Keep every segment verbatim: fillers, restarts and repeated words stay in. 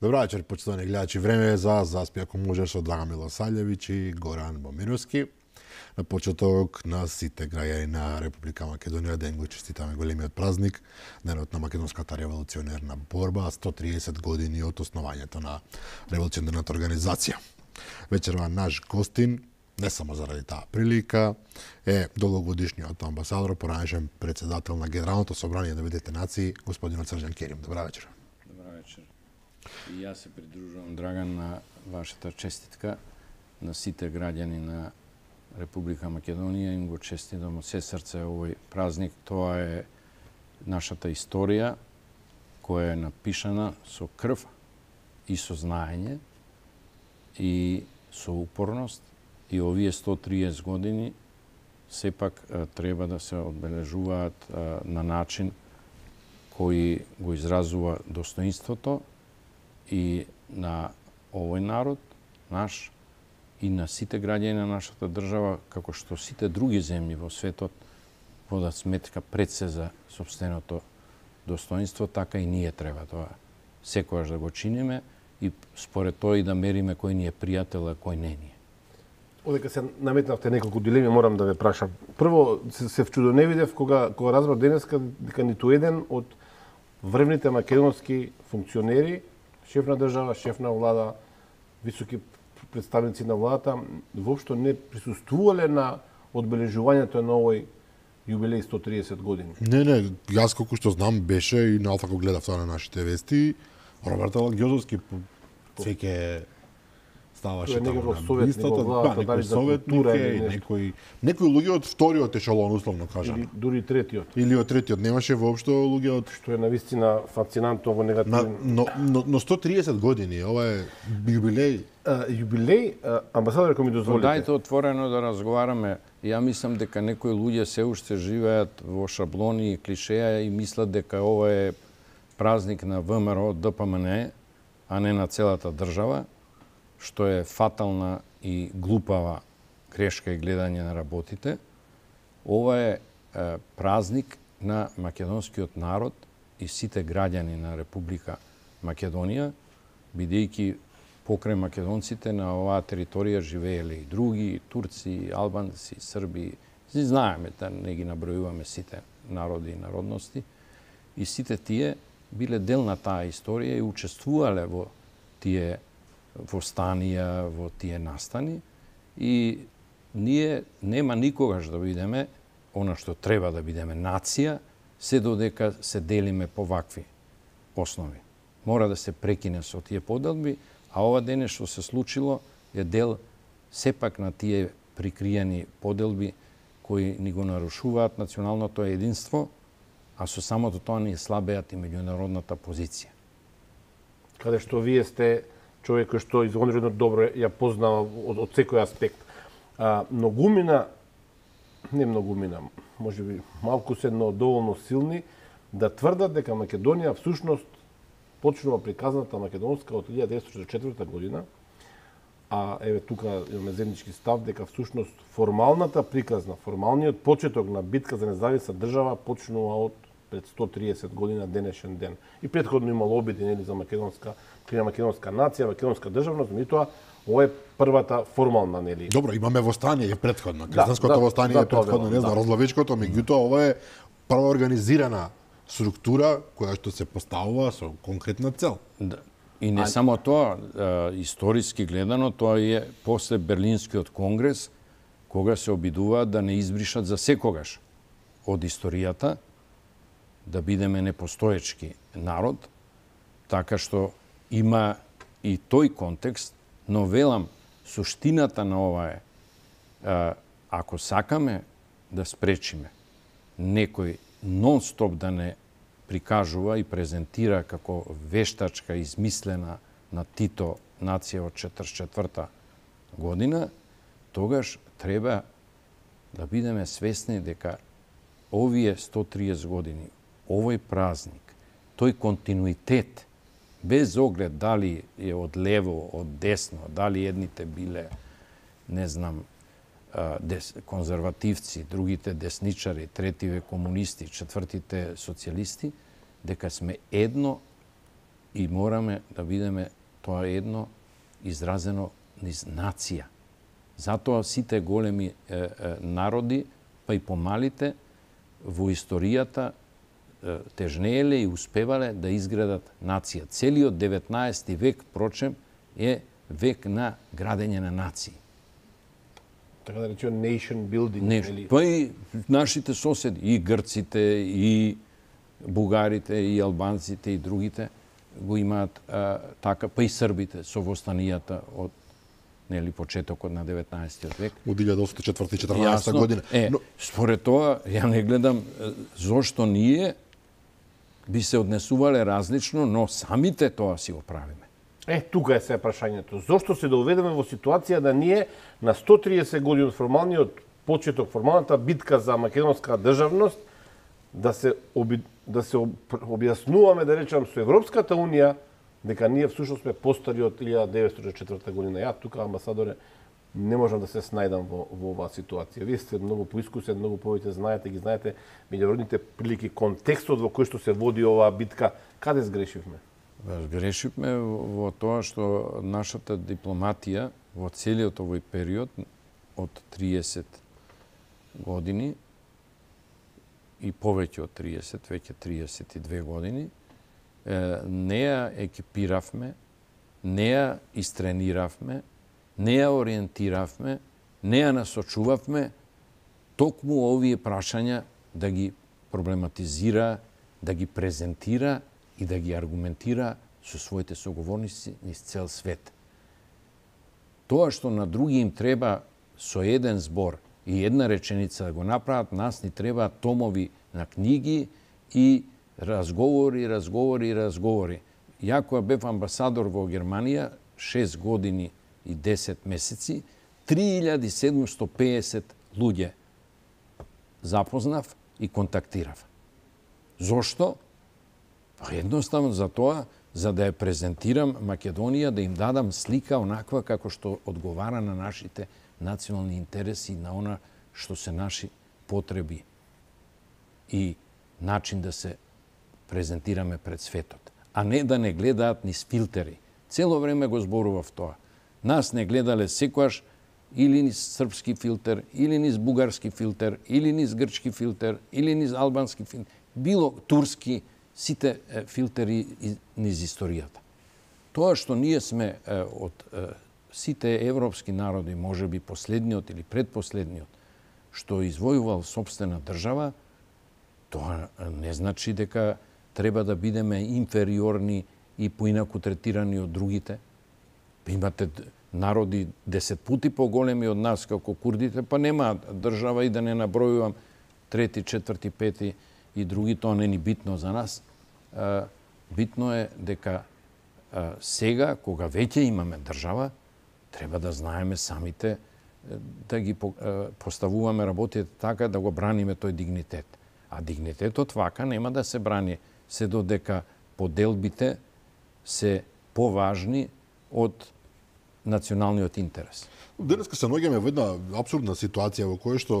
Добра вечер, почитувани гледачи. Време е за Заспи ако можеш од Драган Милосављевиќ и Горан Момировски. На почеток на сите граѓани на Република Македонија ден го честитаме големиот празник, денот на македонската револуционерна борба, сто триесет години од основањето на револуционерната организација. Вечерва наш гостин, не само заради таа прилика, е долгогодишниот амбасадор, поранешен председател на Генералното собрание на Обединетите нации, господинот Срđan Kerim. Добра вечер. Добра вечер. И јас се придружувам, Драган, на вашата честитка на сите граѓани на Република Македонија. Им го честитам од се срце овој празник. Тоа е нашата историја која е напишана со крв и со знаење и со упорност. И овие сто триесет години сепак треба да се одбележуваат на начин кој го изразува достоинството и на овој народ, наш, и на сите граѓани на нашата држава, како што сите други земји во светот водат сметка пред се за сопственото достоинство, така и ние треба тоа секогаш да го чиниме и според тоа и да мериме кој ни е пријател, а кој не ни е. Одека се наметнавте неколку дилеми, морам да ве прашам. Прво, се, се вчудоневидев кога, кога разбрав денеска дека ниту еден од врвните македонски функционери, шеф на држава, шеф на влада, високи представници на владата, воопшто не присуствувале на одбележувањето на овој јубилеј сто триесет години. Не, не, јас колку што знам беше и на Алфа го гледав тоа на нашите вести, Роберт Алагјозовски веќе ставаше таму на листата, да, некој советник и некои некои луѓе од вториот ешелон, условно кажано. Или дури третиот. Или од третиот, немаше воопшто луѓе од што е навистина фасцинантно во негативен. Но, но, но сто триесет години, ова е јубилеј. Uh, јубилеј, uh, амбасадор, ако ми дозволите. Дајте отворено да разговараме. Ја мислам дека некои луѓе се уште живеат во шаблони и клишеја и мислат дека ова е празник на ВМРО, ДПМН, а не на целата држава, што е фатална и глупава грешка и гледање на работите. Ова е, е празник на македонскиот народ и сите граѓани на Република Македонија, бидејќи покрај македонците на оваа територија живееле и други, и турци, и албанци, и срби. И знаеме да не ги набројуваме сите народи и народности. И сите тие биле дел на таа историја и учествувале во тие востанија, во тие настани. И ние нема никогаш да бидеме она што треба да бидеме нација, се додека се делиме по вакви основи. Мора да се прекине со тие поделби, а ова дене што се случило е дел сепак на тие прикриени поделби кои ни го нарушуваат националното единство, а со самото тоа ни слабеат и меѓународната позиција. Каде што вие сте човек кој што извонредно добро ја познава од, од секој аспект. А, многумина, не многумина, може би малку се, но доволно силни, да тврдат дека Македонија всушност почнува приказната македонска од илјада деветстотини четиридесет и четврта година, а еве тука имаме заеднички став дека всушност формалната приказна, формалниот почеток на битка за независна држава почнува од пред сто триесет година денешен ден. И претходно имало обиди нели за македонска, крина македонска нација, македонска државност, меѓутоа ова е првата формална нели. Добро, имаме востание претходно, крстенското да, востание да, е претходно, не знам, да. Розлавичкото, меѓутоа ова е прва организирана структура која што се поставува со конкретна цел. Да. И не а... само тоа, историски гледано, тоа е после Берлинскиот конгрес, кога се обидуваат да не избришат за секогаш од историјата, да бидеме непостоечки народ, така што има и тој контекст, но велам, суштината на ова е, ако сакаме да спречиме некој нон-стоп да не прикажува и презентира како вештачка измислена на Тито нација од четридесет и четврта година, тогаш треба да бидеме свесни дека овие сто триесет години, овој празник, тој континуитет, без оглед дали е од лево, од десно, дали едните биле, не знам, дес, конзервативци, другите десничари, третиве комунисти, четвртите социјалисти, дека сме едно И мораме да видиме тоа едно изразено низ нација. Затоа сите големи е, е, народи, па и помалите, во историјата е, тежнееле и успевале да изградат нација. Целиот деветнаесети век, прочем, е век на градење на нации. Така да речем nation building. Нешто. Или... Па и нашите соседи, и грците, и бугарите, и албанците, и другите го имаат а, така, па и србите со востанијата од нели почетокот на деветнаесетиот век. Од илјада осумстотини и четвртата и четрнаесетта година. Е, Но... според тоа, ја не гледам зошто ние би се однесувале различно, но самите тоа си го правиме. Е, тука е се прашањето. Зошто се доведеме во ситуација да ние на сто триесет години од формалниот почеток, формалната битка за македонска државност, да се оби, да се об, објаснуваме, да речам, со Европската унија, дека ние всушност сме постари од илјада деветстотини и четвртата година. Ја тука, амбасадоре, не можам да се снајдам во, во оваа ситуација. Вие сте многу поискусен, многу повеќе знаете, ги знаете меѓународните прилики, контекстот во кој што се води оваа битка. Каде сгрешивме? Сгрешивме во тоа што нашата дипломатија во целиот овој период од триесет години и повеќе од триесет, веќе триесет и две години, не ја екипиравме, не ја истрениравме, не ја ориентиравме, не ја насочувавме токму овие прашања да ги проблематизира, да ги презентира и да ги аргументира со своите соговорници низ цел свет. Тоа што на други им треба со еден збор и една реченица да го направат, нас ни треба томови на книги и разговори, разговори, разговори. Ја кога бев амбасадор во Германија, шест години и десет месеци, три илјади седумстотини и пеесет луѓе запознав и контактирав. Зошто? Па едноставно за тоа, за да ја презентирам Македонија, да им дадам слика онаква како што одговара на нашите национални интереси, на она што се наши потреби и начин да се презентираме пред светот, а не да не гледаат низ филтери. Цело време го зборував тоа. Нас не гледале секојаш или низ српски филтер, или низ бугарски филтер, или низ грчки филтер, или низ албански филтер, било турски, сите е, филтери низ историјата. Тоа што ние сме е, од е, сите европски народи, може би последниот или предпоследниот, што извојувал собствена држава, тоа не значи дека треба да бидеме инфериорни и поинаку третирани од другите. Имате народи десет пути поголеми од нас, како курдите, па нема држава и да не набројувам трети, четврти, пети и други, тоа не ни битно за нас. Битно е дека сега, кога веќе имаме држава, треба да знаеме самите да ги поставуваме работите така да го браниме тој дигнитет. А дигнитетот вака нема да се брани се додека поделбите се поважни од националниот интерес. Денеска се наоѓаме во една апсурдна ситуација во која што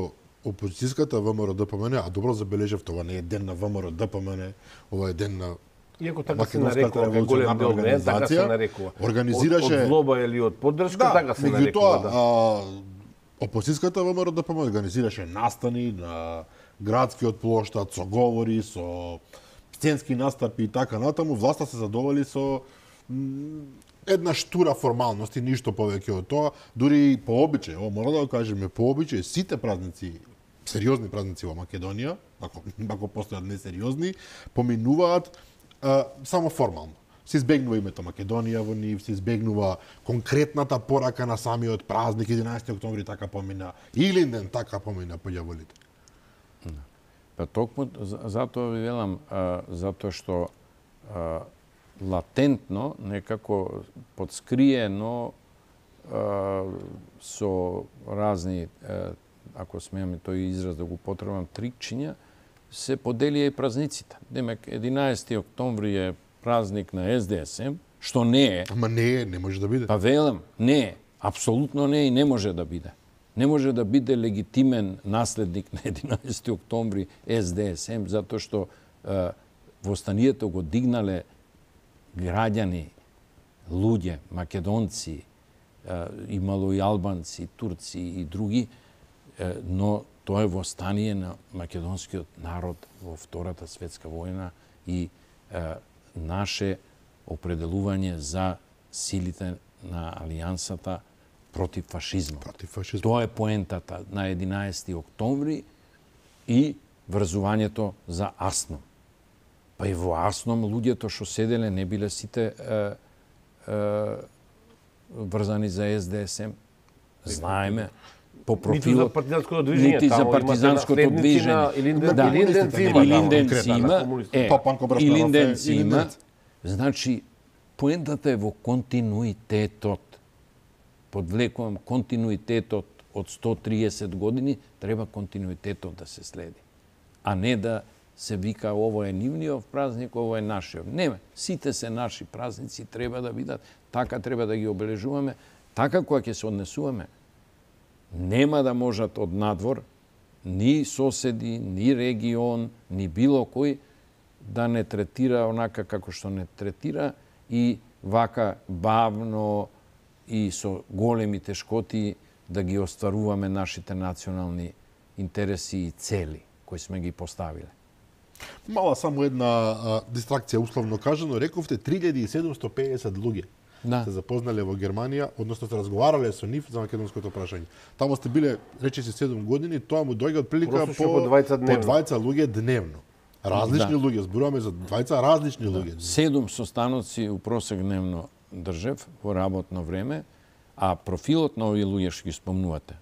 опозицијската ВМРО-ДПМН, а добро забележав, тоа не е ден на ВМРО-ДПМН, ова е ден на Иако така се нарекува, како голем дел не, така се нарекува. Организираше... Од, од злоба или од поддршка, да, така се нарекува. Да, опозицијската ВМРО-ДПМН организираше настани на градскиот плоштад, со говори, со сценски настапи и така натаму. Власта се задоволи со една штура формалност и ништо повеќе од тоа. Дури по обичај, ово мора да го кажеме, по обичај сите празници, сериозни празници во Македонија, ако, ако постојат несериозни, поминуваат а, само формално. Се избегнува името Македонија во нив, се избегнува конкретната порака на самиот празник, единаесети октомври така помина, Илинден така помина по ѓаволите. Па токму затоа ви велам, а, затоа што а, латентно, некако подскриено а, со разни, а, ако смееме тој израз да го потребам, трикчиња, се поделија и празниците. Демек, единаесети октомври е празник на Ес Де Ес Ем, што не е. Ама не е, не може да биде. Па велам, не е. Апсолутно не е и не може да биде. Не може да биде легитимен наследник на единаесети октомври Ес Де Ес Ем, затоа што а, востанието го дигнале граѓани, луѓе, македонци, имало и албанци, турци и други, но тоа е востание на македонскиот народ во Втората светска војна и наше определување за силите на алијансата против фашизмот. Против фашизмот. Тоа е поентата на единаесети октомври и врзувањето за Асном. Па и во Асном луѓето што седеле не биле сите е, е, врзани за Ес Де Ес Ем. Знаеме по профилот, ниту за партизанското движење, нити за партизанското движење. Илинденци има. Илинденци има. Е, Илинденци има. Илинденци. Значи, поентата е во континуитетот. Подвлекувам континуитетот од сто триесет години, треба континуитетот да се следи. А не да се вика ово е нивниот празник, ово е нашиот. Не, сите се наши празници, треба да бидат, така треба да ги обележуваме, така кога ќе се однесуваме. Нема да можат од надвор, ни соседи, ни регион, ни било кој да не третира онака како што не третира и вака бавно и со големи тешкоти да ги остваруваме нашите национални интереси и цели кои сме ги поставиле. Мала само една а, дистракција, условно кажано, рековте три илјади и седумсто пеесет луѓе Да. се запознале во Германија, односно се разговарале со нив за македонското прашање. Таму сте биле, речиси, седум години, тоа му дојде од прилика Просечно по, по двајца по дневно. двајца луѓе дневно. Различни Да. луѓе, зборуваме за двајца различни луѓе. Седум состаноци у просек дневно држев во работно време, а профилот на овие луѓе што ги спомнувате,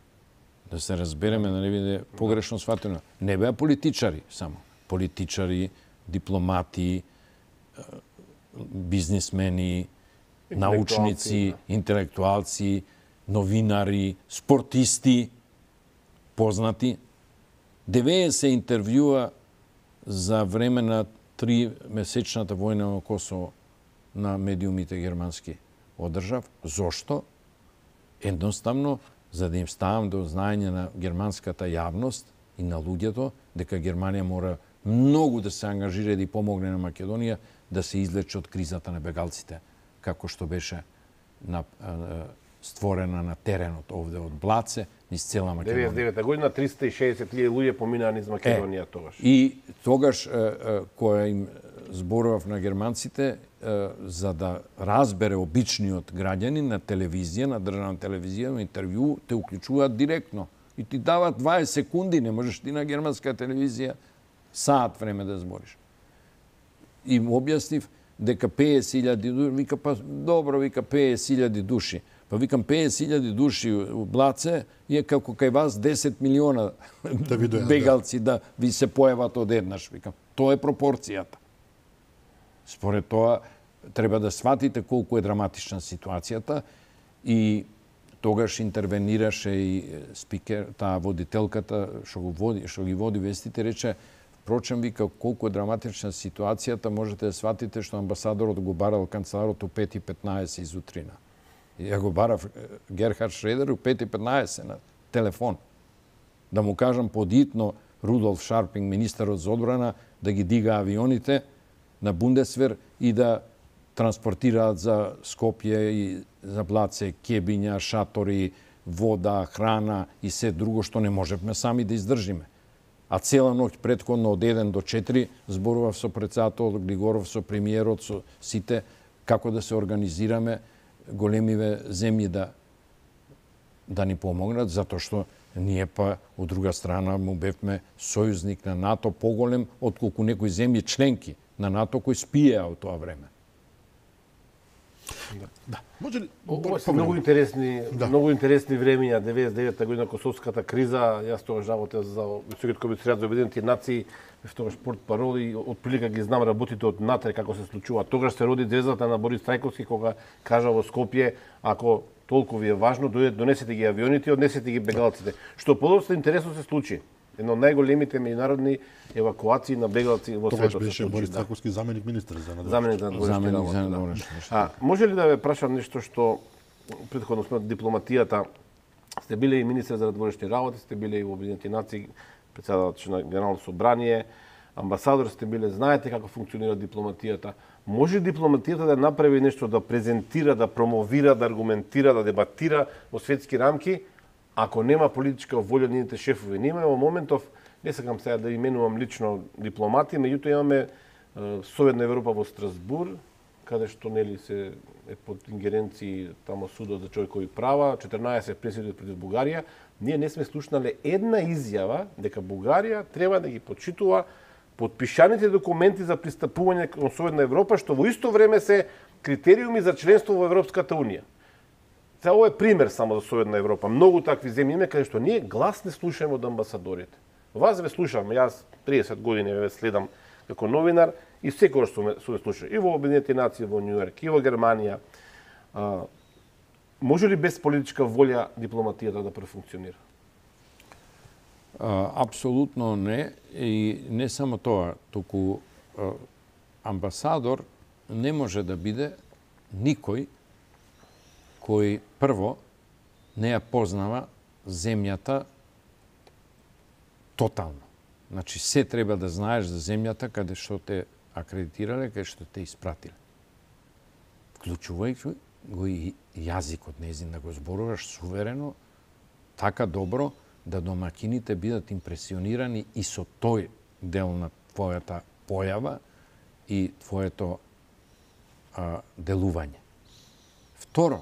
да се разбереме, да не биде погрешно сватено, не беа политичари само. Политичари, дипломати, бизнисмени, научници, интелектуалци, новинари, спортисти, познати. деветдесет интервјуа за време на три месечната војна во Косово на медиумите германски одржав. Зошто? Едноставно, за да им ставам до знаење на германската јавност и на луѓето, дека Германија мора многу да се ангажира и да помогне на Македонија да се излече од кризата на бегалците, како што беше на, а, створена на теренот овде од Блаце, низ цела Македонија. деветдесет и девета година триста и шеесет илјади луѓе поминаа низ Македонија е, тогаш. И тогаш, е, е, која им зборував на германците, е, за да разбере обичниот граѓанин на телевизија, на државна телевизија, на интервју, те уклучуваат директно. И ти дават дваесет секунди, не можеш ти на германска телевизија саат време да збориш. И му објаснив дека пеесет илјади души, вика, па добро, вика пеесет илјади души. Па викам пеесет илјади души у Блаце и е како кај вас десет милиона Да ви дојдат, бегалци да ви се појават одеднаш. Викам, тоа е пропорцијата. Според тоа, треба да сватите колку е драматична ситуацијата и тогаш интервенираше и спикер, таа водителката што го води, што ги води вестите, рече, впрочем, вика, колку е драматична ситуацијата, можете да сватите што амбасадорот го барал канцеларот у пет и петнаесет изутрина. И ја го барав Герхард Шредер у пет и петнаесет на телефон. Да му кажам подитно Рудолф Шарпинг, министерот за одбрана, да ги дига авионите на Бундесвер и да транспортираат за Скопје и за Блаце кебиња, шатори, вода, храна и се друго што не можевме сами да издржиме. А цела ноќ претходно од еден до четири зборував со председателот Глигоров, со премиерот, со сите, како да се организираме големиве земји да да ни помогнат, затоа што ние па од друга страна му бевме сојузник на НАТО поголем отколку некои земји членки на НАТО кои спиеа од тоа време. Да. Може ли Ова се многу интересни, Да. многу интересни времиња, деветдесет и девета година косовската криза, јас тогаш работев за Високиот комисаријат за Обединети нации, тогаш портпарол и од прилика ги знам работите од натре како се случува. Тогаш се роди звездата на Борис Трајковски кога кажа во Скопје, ако толку ви е важно, дојдете, донесете ги авионите и однесете ги бегалците. Што подоста интересно се случи. Едно од најголемите меѓународни евакуации на бегалци во тогаш светот се беше случи. Борис Да. Трајковски заменик министер за надворешни Заменик за надворешни Заменик работи, за да. надворешни работи. А може ли да ве прашам нешто што претходно сме од дипломатијата, сте биле и министер за надворешни работи, сте биле и во Обединети нации, председател на Генерално собрание. амбасадор сте биле, знаете како функционира дипломатијата. Може дипломатијата да направи нешто, да презентира, да промовира, да аргументира, да дебатира во светски рамки, ако нема политичка волја нивните шефови. Ние имаме во моментов, не сакам сега да именувам лично дипломати, меѓутоа имаме Советна Европа во Страсбур, каде што нели се е под ингеренции тамо судот за човекови права, четрнаесет пресуди против Бугарија. Ние не сме слушнале една изјава дека Бугарија треба да ги почитува подпишаните документи за пристапување кон Советна Европа, што во исто време се критериуми за членство во Европската унија. Сега ова е пример само за Советна Европа. Многу такви земји има каде што ние глас не слушаме од амбасадорите. Вас ве слушам, јас триесет години ве следам како новинар и секогаш сум ве слушал и во Обединетите нации во Њу Јорк, и во Германија. А, може ли без политичка волја дипломатијата да префункционира? А, апсолутно не. И не само тоа, туку а, амбасадор не може да биде никој кој прво не ја познава земјата тотално. Значи, се треба да знаеш за земјата каде што те акредитирале, каде што те испратиле. Вклучувајќи го и јазикот незин, да го зборуваш суверено, така добро, да домакините бидат импресионирани и со тој дел на твојата појава и твоето а, делување. Второ,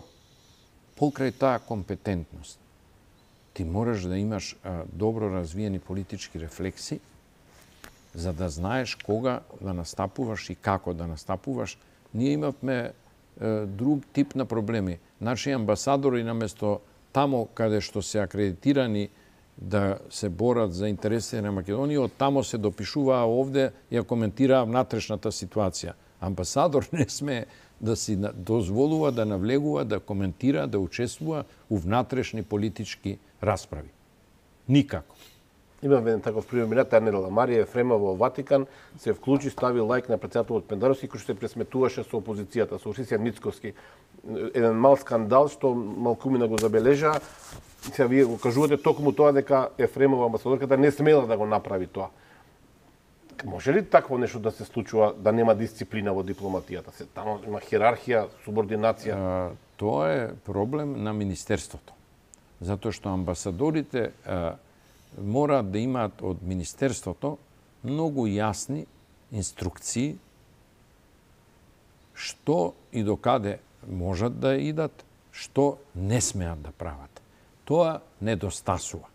покрај таа компетентност, ти мораш да имаш а, добро развиени политички рефлекси, за да знаеш кога да настапуваш и како да настапуваш. Ние имавме е, друг тип на проблеми. Наши амбасадори, наместо тамо каде што се акредитирани да се борат за интересите на Македонија, од тамо се допишуваа овде и ја коментираа внатрешната ситуација. Амбасадор не сме да си дозволува да навлегува, да коментира, да учествува у внатрешни политички расправи. Никако. Имам еден таков пример, мината недела Марија Ефремова во Ватикан се вклучи, стави лајк на председателот Пендаровски, кој што се пресметуваше со опозицијата, со Осисија Ницковски. Еден мал скандал што малкумина го забележа. Сега вие го кажувате токму тоа дека Ефремова амбасадорката не смела да го направи тоа. Може ли такво нешто да се случува, да нема дисциплина во дипломатијата? Се тамо има хиерархија, субординација. А, тоа е проблем на министерството. Затоа што амбасадорите а, мораат да имаат од министерството многу јасни инструкции што и докаде можат да идат, што не смеат да прават. Тоа недостасува.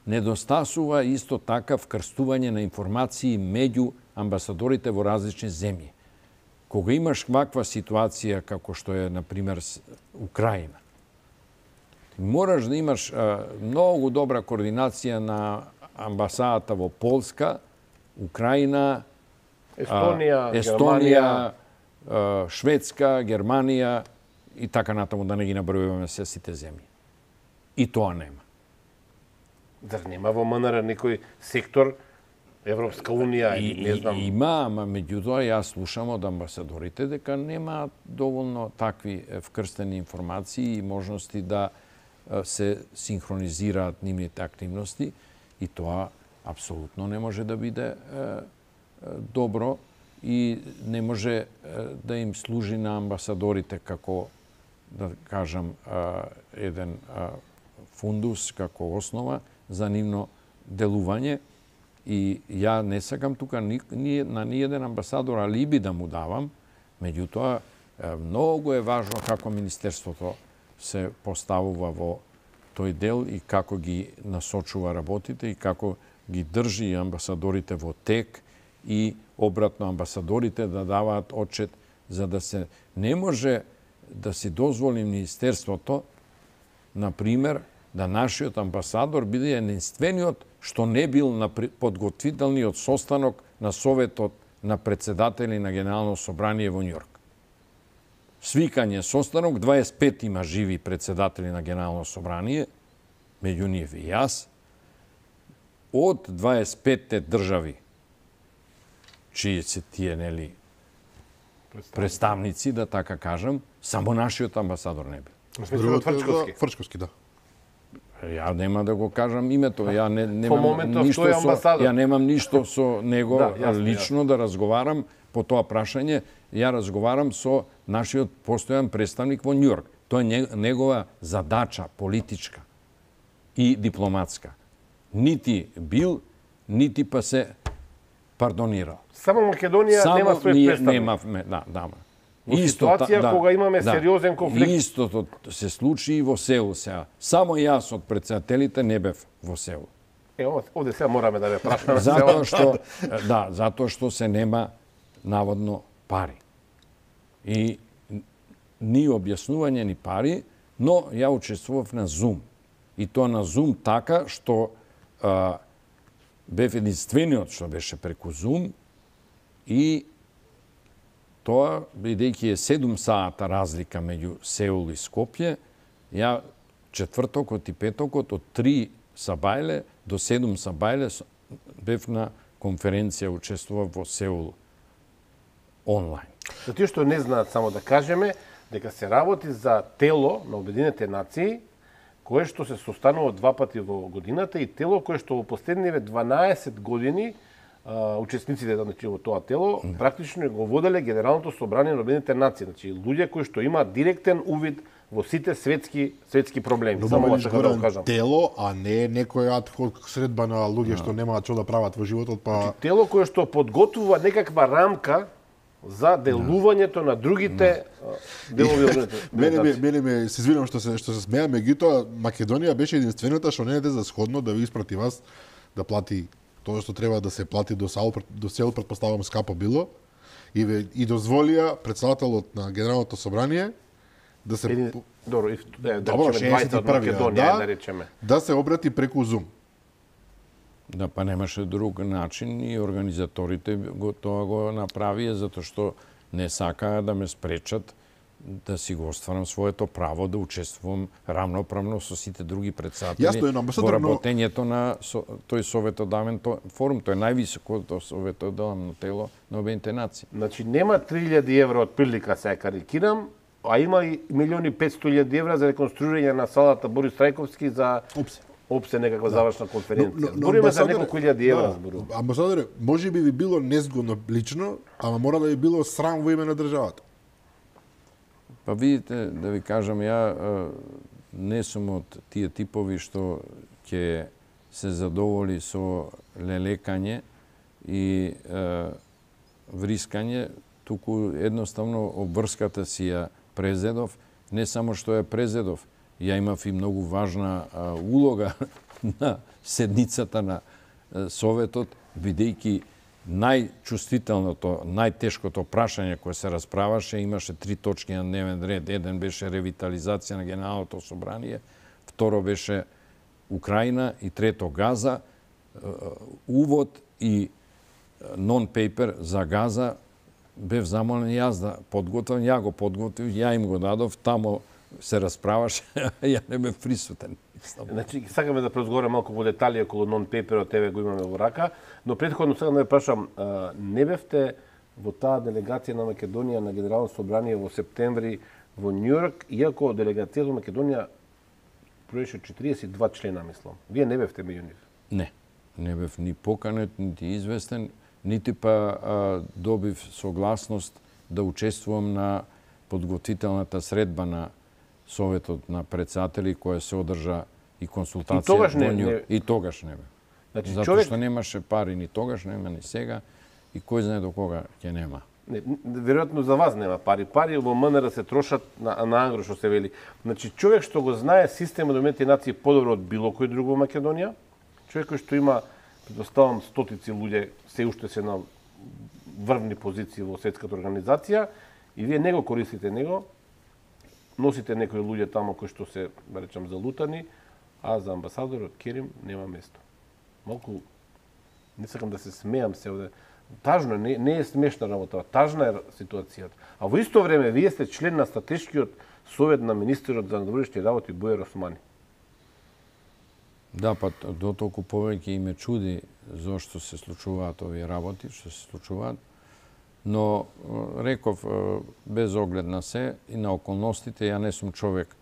Недостасува исто така вкрстување на информации меѓу амбасадорите во различни земји. Кога имаш ваква ситуација како што е, например, Украина, мораш да имаш а, многу добра координација на амбасадата во Полска, Украина, Естонија, а, Естонија, а, Шведска, Германија и така натаму, да не ги набројуваме се сите земји. И тоа нема. Зар нема во МНР некој сектор, Европска унија или не знам? И, има, ама меѓутоа јас слушам од амбасадорите дека нема доволно такви вкрстени информации и можности да се синхронизираат нивните активности и тоа апсолутно не може да биде е, е, добро и не може е, да им служи на амбасадорите како, да кажам, е, еден е, фундус, како основа за нивно делување. И ја не сакам тука ни, ни, на ниеден амбасадор алиби да му давам, меѓутоа многу е важно како министерството се поставува во тој дел и како ги насочува работите и како ги држи амбасадорите во тек и обратно амбасадорите да даваат отчет, за да се не може да си дозволи министерството, например, да нашиот амбасадор биде единствениот што не бил на подготвителниот состанок на Советот на председатели на Генерално собрание во Њујорк. Свикање состанок, дваесет пет има живи председатели на Генерално собрание, меѓу нив и јас, од дваесет петте држави, чии се тие, нели, представници, да така кажам, само нашиот амбасадор не бил. Фрчковски. Фрчковски, да. Ја нема да го кажам името, ја не, немам моментов ништо тој е со, амбасадор. ја немам ништо со него Да, јасно, лично да разговарам по тоа прашање. Ја разговарам со нашиот постојан представник во Њујорк. Тоа е негова задача политичка и дипломатска. Нити бил, нити па се пардонирал. Само Македонија Само нема свој ние представник. немавме, да, да. Во ситуација да, кога имаме да. сериозен конфликт. Истото се случи и во Сеул сега. Само јас од председателите не бев во Сеул. Е, овде сега мораме да ве прашаме. Затоа што да, затоа што се нема наводно пари. И ни објаснување ни пари, но ја учествував на Zoom. И тоа на Zoom така што а, бев единствениот што беше преку Zoom и тоа, бидејќи е седум сата разлика меѓу Сеул и Скопје, ја четвртокот и петокот од три сабајле до седум сабајле бев на конференција, учествував во Сеул онлайн. За тие што не знаат, само да кажеме дека се работи за тело на Обединетите нации кое што се состанува два пати во годината и тело кое што во последниве дванаесет години а, учесниците значи, во тоа тело практично го воделе Генералното собрание на Обединетите нации, значи луѓе кои што имаат директен увид во сите светски светски проблеми. Но Само мораш така да го кажам. тело, а не некој адхок средба на луѓе што немаат што да прават во животот, па Тело кое што подготвува некаква рамка за делувањето на другите делови од мене ме, мене ме се извинувам што се што се смеам, меѓутоа Македонија беше единствената што не е за сходно да ви испрати вас да плати тоа што треба да се плати до Сеул, до Сеул претпоставувам скапо било и ве, и дозволија председателот на Генералното собрание да се Един, добро, и, е, да Добро, речеме дваесет од Македонија, да, да речеме. да се обрати преку Zoom. Да, па немаше друг начин и организаторите го, тоа го направија затоа што не сакаа да ме спречат да си го остварам своето право да учествувам равноправно со сите други председатели Јасно е, но амбасадор, во работењето на со, тој советодавен то, форум. Тој е највисокото советодавно тело на Обединетите нации. Значи нема три илјади евра од прилика, се карикирам, а има и милиони и петстотини илјади евра за реконструирање на салата Борис Трајковски за Опсе. опсе некаква завршна конференција. Но- но- но Збориме за амбасадоре- неколку илјади евра, да, зборувам. Амбасадоре, може би би било незгодно лично, ама мора да би било срам во име на државата. Па видите, да ви кажам, ја е, не сум од тие типови што ќе се задоволи со лелекање и е, врискање, туку едноставно обврската си ја презедов, не само што ја презедов, ја имав и многу важна а, улога на седницата на а, Советот, бидејќи најчувствителното, најтешкото прашање кое се расправаше, имаше три точки на дневен ред. Еден беше ревитализација на Генералното собрание, второ беше Украина и трето Газа. Увод и нон-пейпер за Газа бев замолен јас да подготвам, ја го подготвив, ја им го дадов, тамо се расправаше, ја не бев присутен. Значи, сакаме да преразговараме малку во детали околу нон-пейперот, тебе го имаме во рака, но претходно сега да ве прашам, а, не бевте во таа делегација на Македонија на Генерално собрание во септември во Њујорк, иако делегацијата во Македонија броеше четириесет и два члена, мислам. Вие не бевте меѓу нив? Не, не бев ни поканет, нити известен, нити па а, добив согласност да учествувам на подготвителната средба на Советот на председатели која се одржа и консултација И тогаш не- во Њујорк. не- И тогаш не бев. Значи, Затоа човек... што немаше пари ни тогаш, нема ни сега и кој знае до кога ќе нема. Не, веројатно за вас нема пари. Пари во МНР се трошат на, на ангро, што се вели. Значи, човек што го знае системот на Обединетите нации подобро од било кој друго во Македонија, човек кој што има, предпоставам, стотици луѓе, се уште се на врвни позиции во светската организација, и вие не го користите него, носите некои луѓе тамо кои што се, да речам, залутани, а за амбасадорот Керим нема место. Малку, не сакам да се смеам се овде, тажно е, не, не е смешна работа, тажна е ситуацијата. А во исто време вие сте член на стратешкиот совет на министерот за надворешни работи Бојар Османи. Да, па до толку повеќе и ме чуди зошто се случуваат овие работи, што се случуваат. Но, реков, без оглед на се и на околностите, ја не сум човек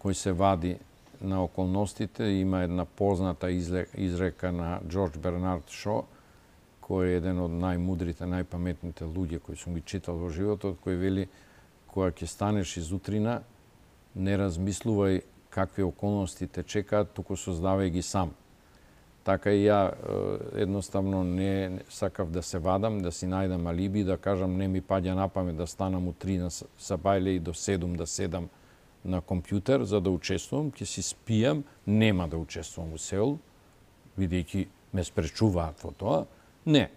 кој се вади на околностите. Има една позната изрека на Джордж Бернард Шо, кој е еден од најмудрите, најпаметните луѓе кои сум ги читал во животот, кој вели кога ќе станеш изутрина, не размислувај какви околности те чекаат, туку создавај ги сам. Така и ја едноставно не сакав да се вадам, да си најдам алиби, да кажам не ми паѓа на памет да станам у три на сабајле и до седум да седам на компјутер за да учествувам, ќе си спијам, нема да учествувам во Сеул, бидејќи ме спречуваат во тоа. Не.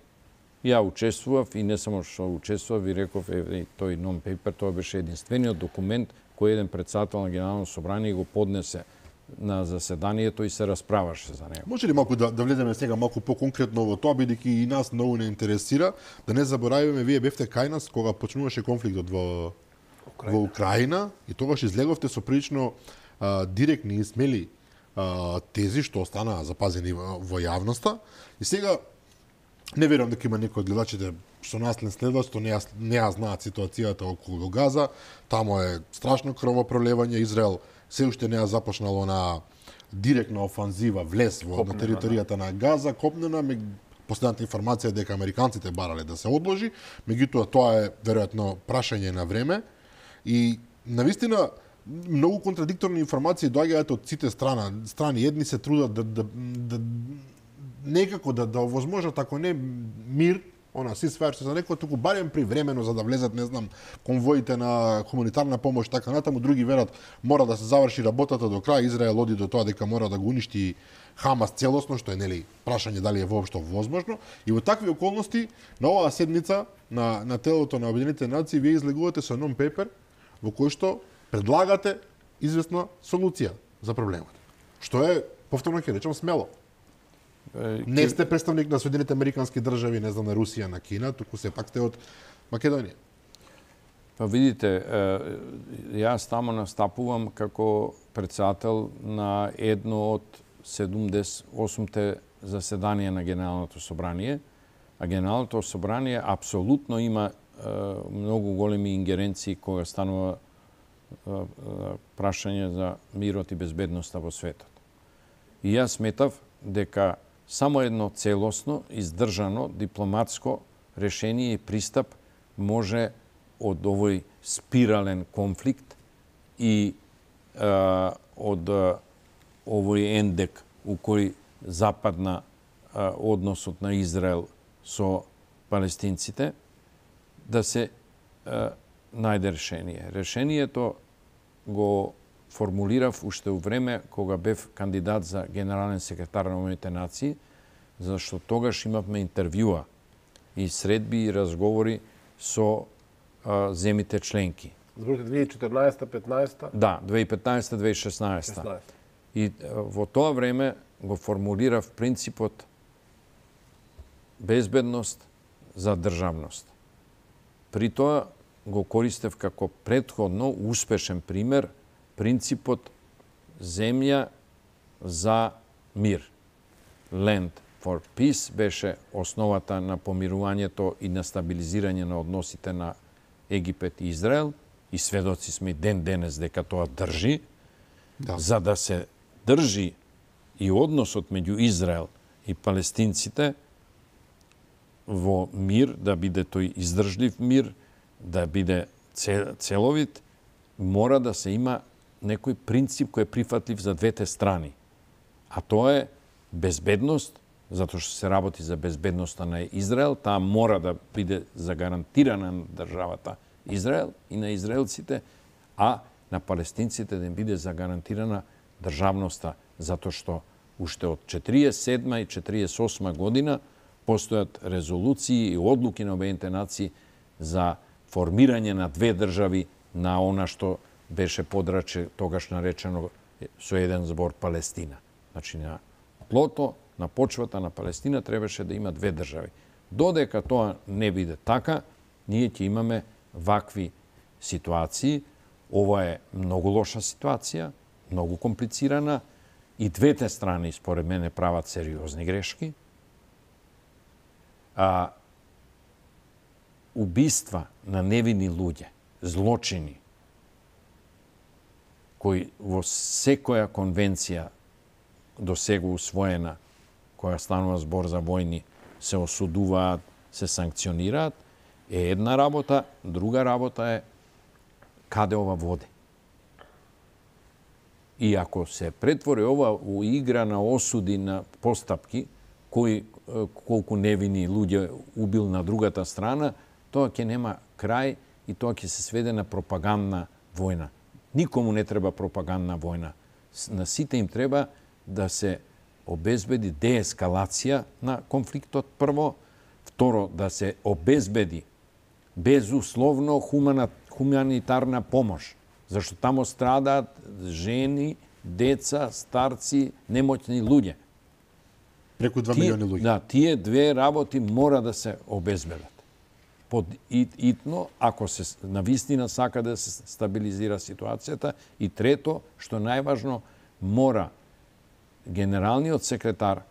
Ја учествував и не само што учествував, ви реков, е, тој non-paper, тоа беше единствениот документ кој еден председател на Генерално собрание го поднесе на заседанието и се расправаше за него. Може ли малку да, да влеземе сега малку по-конкретно во тоа, бидејќи и нас многу не интересира, да не заборавиме, вие бевте кај нас кога почнуваше конфликтот во Украина. во Украина и тогаш излеговте со прилично а, директни и смели а, тези што останаа запазени во, во јавноста. И сега не верувам дека има некои од гледачите што нас не следат, што не ја, не ја знаат ситуацијата околу Газа. Тамо е страшно крвопролевање. Израел се уште не ја започнало на директна офанзива влез во копнена, на територијата на Газа, копнена. Последната информација е дека американците барале да се одложи, меѓутоа тоа е веројатно прашање на време. И навистина многу контрадикторни информации доаѓаат од сите страна. Страни едни се трудат да, да, да некако да да овозможат, ако не мир, она си сварше за некој, туку барем привремено за да влезат, не знам, конвоите на хуманитарна помош, така натаму. Други верат мора да се заврши работата до крај. Израел оди до тоа дека мора да го уништи Хамас целосно, што е нели прашање дали е воопшто возможно. И во такви околности на оваа седница на на телото на Обединетите нации вие излегувате со non-paper во кој што предлагате известна солуција за проблемот. Што е, повторно ќе речам, смело. Не сте представник на Соединетите американски држави, не знам, на Русија, на Кина, туку сепак сте од Македонија. Па видите, јас тамо настапувам како председател на едно од седумдесет и осумте заседанија на Генералното собрание, а Генералното собрание апсолутно има многу големи ингеренции кога станува прашање за мирот и безбедноста во светот. И јас сметав дека само едно целосно, издржано, дипломатско решение и пристап може од овој спирален конфликт и а, од а, овој ендек у кој западна а, односот на Израел со палестинците, да се а, најде решение. Решението го формулирав уште у време кога бев кандидат за генерален секретар на Обединетите нации, зашто тогаш имавме интервјуа и средби и разговори со а, земите членки. Зборите две илјади и четрнаесета петнаесета? Да, две илјади и петнаесета две илјади и шеснаесета. И во тоа време го формулирав принципот безбедност за државност. При тоа го користев како претходно успешен пример принципот земја за мир. Land for Peace беше основата на помирувањето и на стабилизирање на односите на Египет и Израел, и сведоци сме ден денес дека тоа држи. Да. За да се држи и односот меѓу Израел и палестинците во мир, да биде тој издржлив мир, да биде целовит, мора да се има некој принцип кој е прифатлив за двете страни. А тоа е безбедност, затоа што се работи за безбедноста на Израел, таа мора да биде загарантирана на државата Израел и на израелците, а на палестинците да им биде загарантирана државноста, затоа што уште од четириесет и седма и четириесет и осма година постојат резолуции и одлуки на Обединетите нации за формирање на две држави на она што беше подраче тогаш наречено со еден збор Палестина. Значи на тлото, на почвата на Палестина требаше да има две држави. Додека тоа не биде така, ние ќе имаме вакви ситуации. Ова е многу лоша ситуација, многу комплицирана и двете страни, според мене, прават сериозни грешки. А убиства на невини луѓе, злочини, кој во секоја конвенција до сега усвоена, која станува збор за војни, се осудуваат, се санкционираат, е една работа, друга работа е каде ова води. И ако се претвори ова у игра на осуди на постапки, кој колку невини луѓе убил на другата страна, тоа ќе нема крај и тоа ќе се сведе на пропагандна војна. Никому не треба пропагандна војна. На сите им треба да се обезбеди деескалација на конфликтот прво, второ да се обезбеди безусловно хумана, хуманитарна помош, зашто тамо страдаат жени, деца, старци, немоćни луѓе. Преку два милиони луѓе. Да, тие две работи мора да се обезбедат. Под итно, ако се навистина сака да се стабилизира ситуацијата. И трето, што најважно, мора генералниот секретар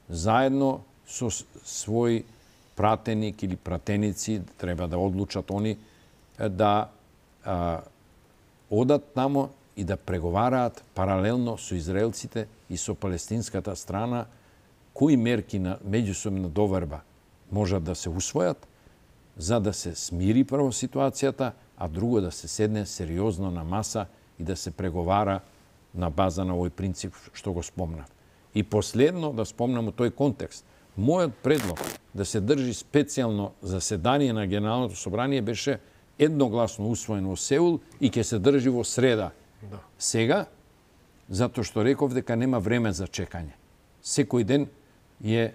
заедно со свој пратеник или пратеници, треба да одлучат они, да а, одат тамо и да преговараат паралелно со израелците и со палестинската страна кои мерки на меѓусобна доверба можат да се усвојат, за да се смири прво ситуацијата, а друго да се седне сериозно на маса и да се преговара на база на овој принцип што го спомнав. И последно да спомнам у тој контекст. Мојот предлог да се држи специјално заседание на Генералното собрание беше едногласно усвоено во Сеул и ќе се држи во среда. Да. Сега, затоа што реков дека нема време за чекање. Секој ден е,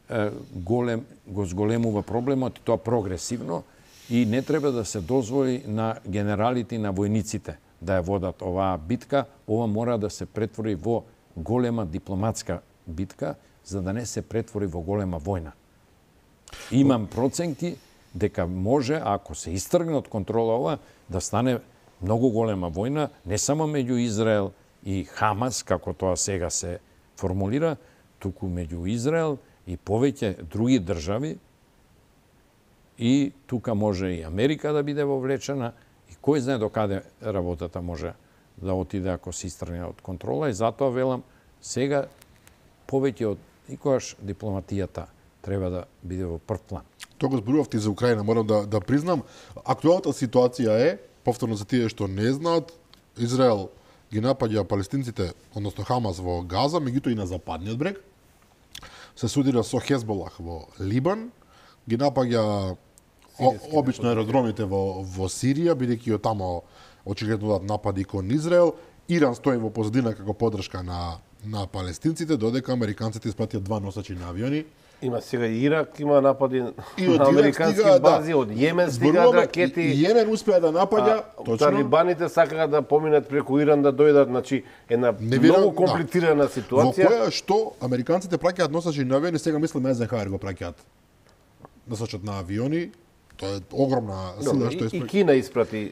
е голем, го зголемува проблемот и тоа прогресивно и не треба да се дозволи на генералите и на војниците да ја водат оваа битка. Ова мора да се претвори во голема дипломатска битка, за да не се претвори во голема војна. Имам проценки дека може, ако се истргне од контрола ова, да стане многу голема војна, не само меѓу Израел и Хамас, како тоа сега се формулира, туку меѓу Израел и повеќе други држави. И тука може и Америка да биде вовлечена, и кој знае до каде работата може да отиде ако се истргне од контрола. И затоа велам, сега повеќе од никогаш дипломатијата треба да биде во прв план. Тоа го зборувавте за Украина, морам да, да признам. Актуелната ситуација е, повторно за тие што не знаат, Израел ги напаѓа палестинците, односно Хамас во Газа, меѓутоа и на западниот брег. Се судира со Хезболах во Либан, ги напаѓа обично аеродромите во, во Сирија, бидејќи од тамо очигледно напади кон Израел. Иран стои во позадина како поддршка на, на палестинците, додека американците испратија два носачи на авиони. Има сега и Ирак, има напади И на американски стига, бази, да. од Јемен стигаат ракети. И Јемен успеа да напаѓа, точно. Талибаните сакаат да поминат преку Иран да дојдат, значи една многу комплицирана да. ситуација. Во која што американците праќаат носачи на авиони, сега мислам Езенхаер го праќаат носачот на авиони. Тоа е огромна сила што испрати. И Кина испрати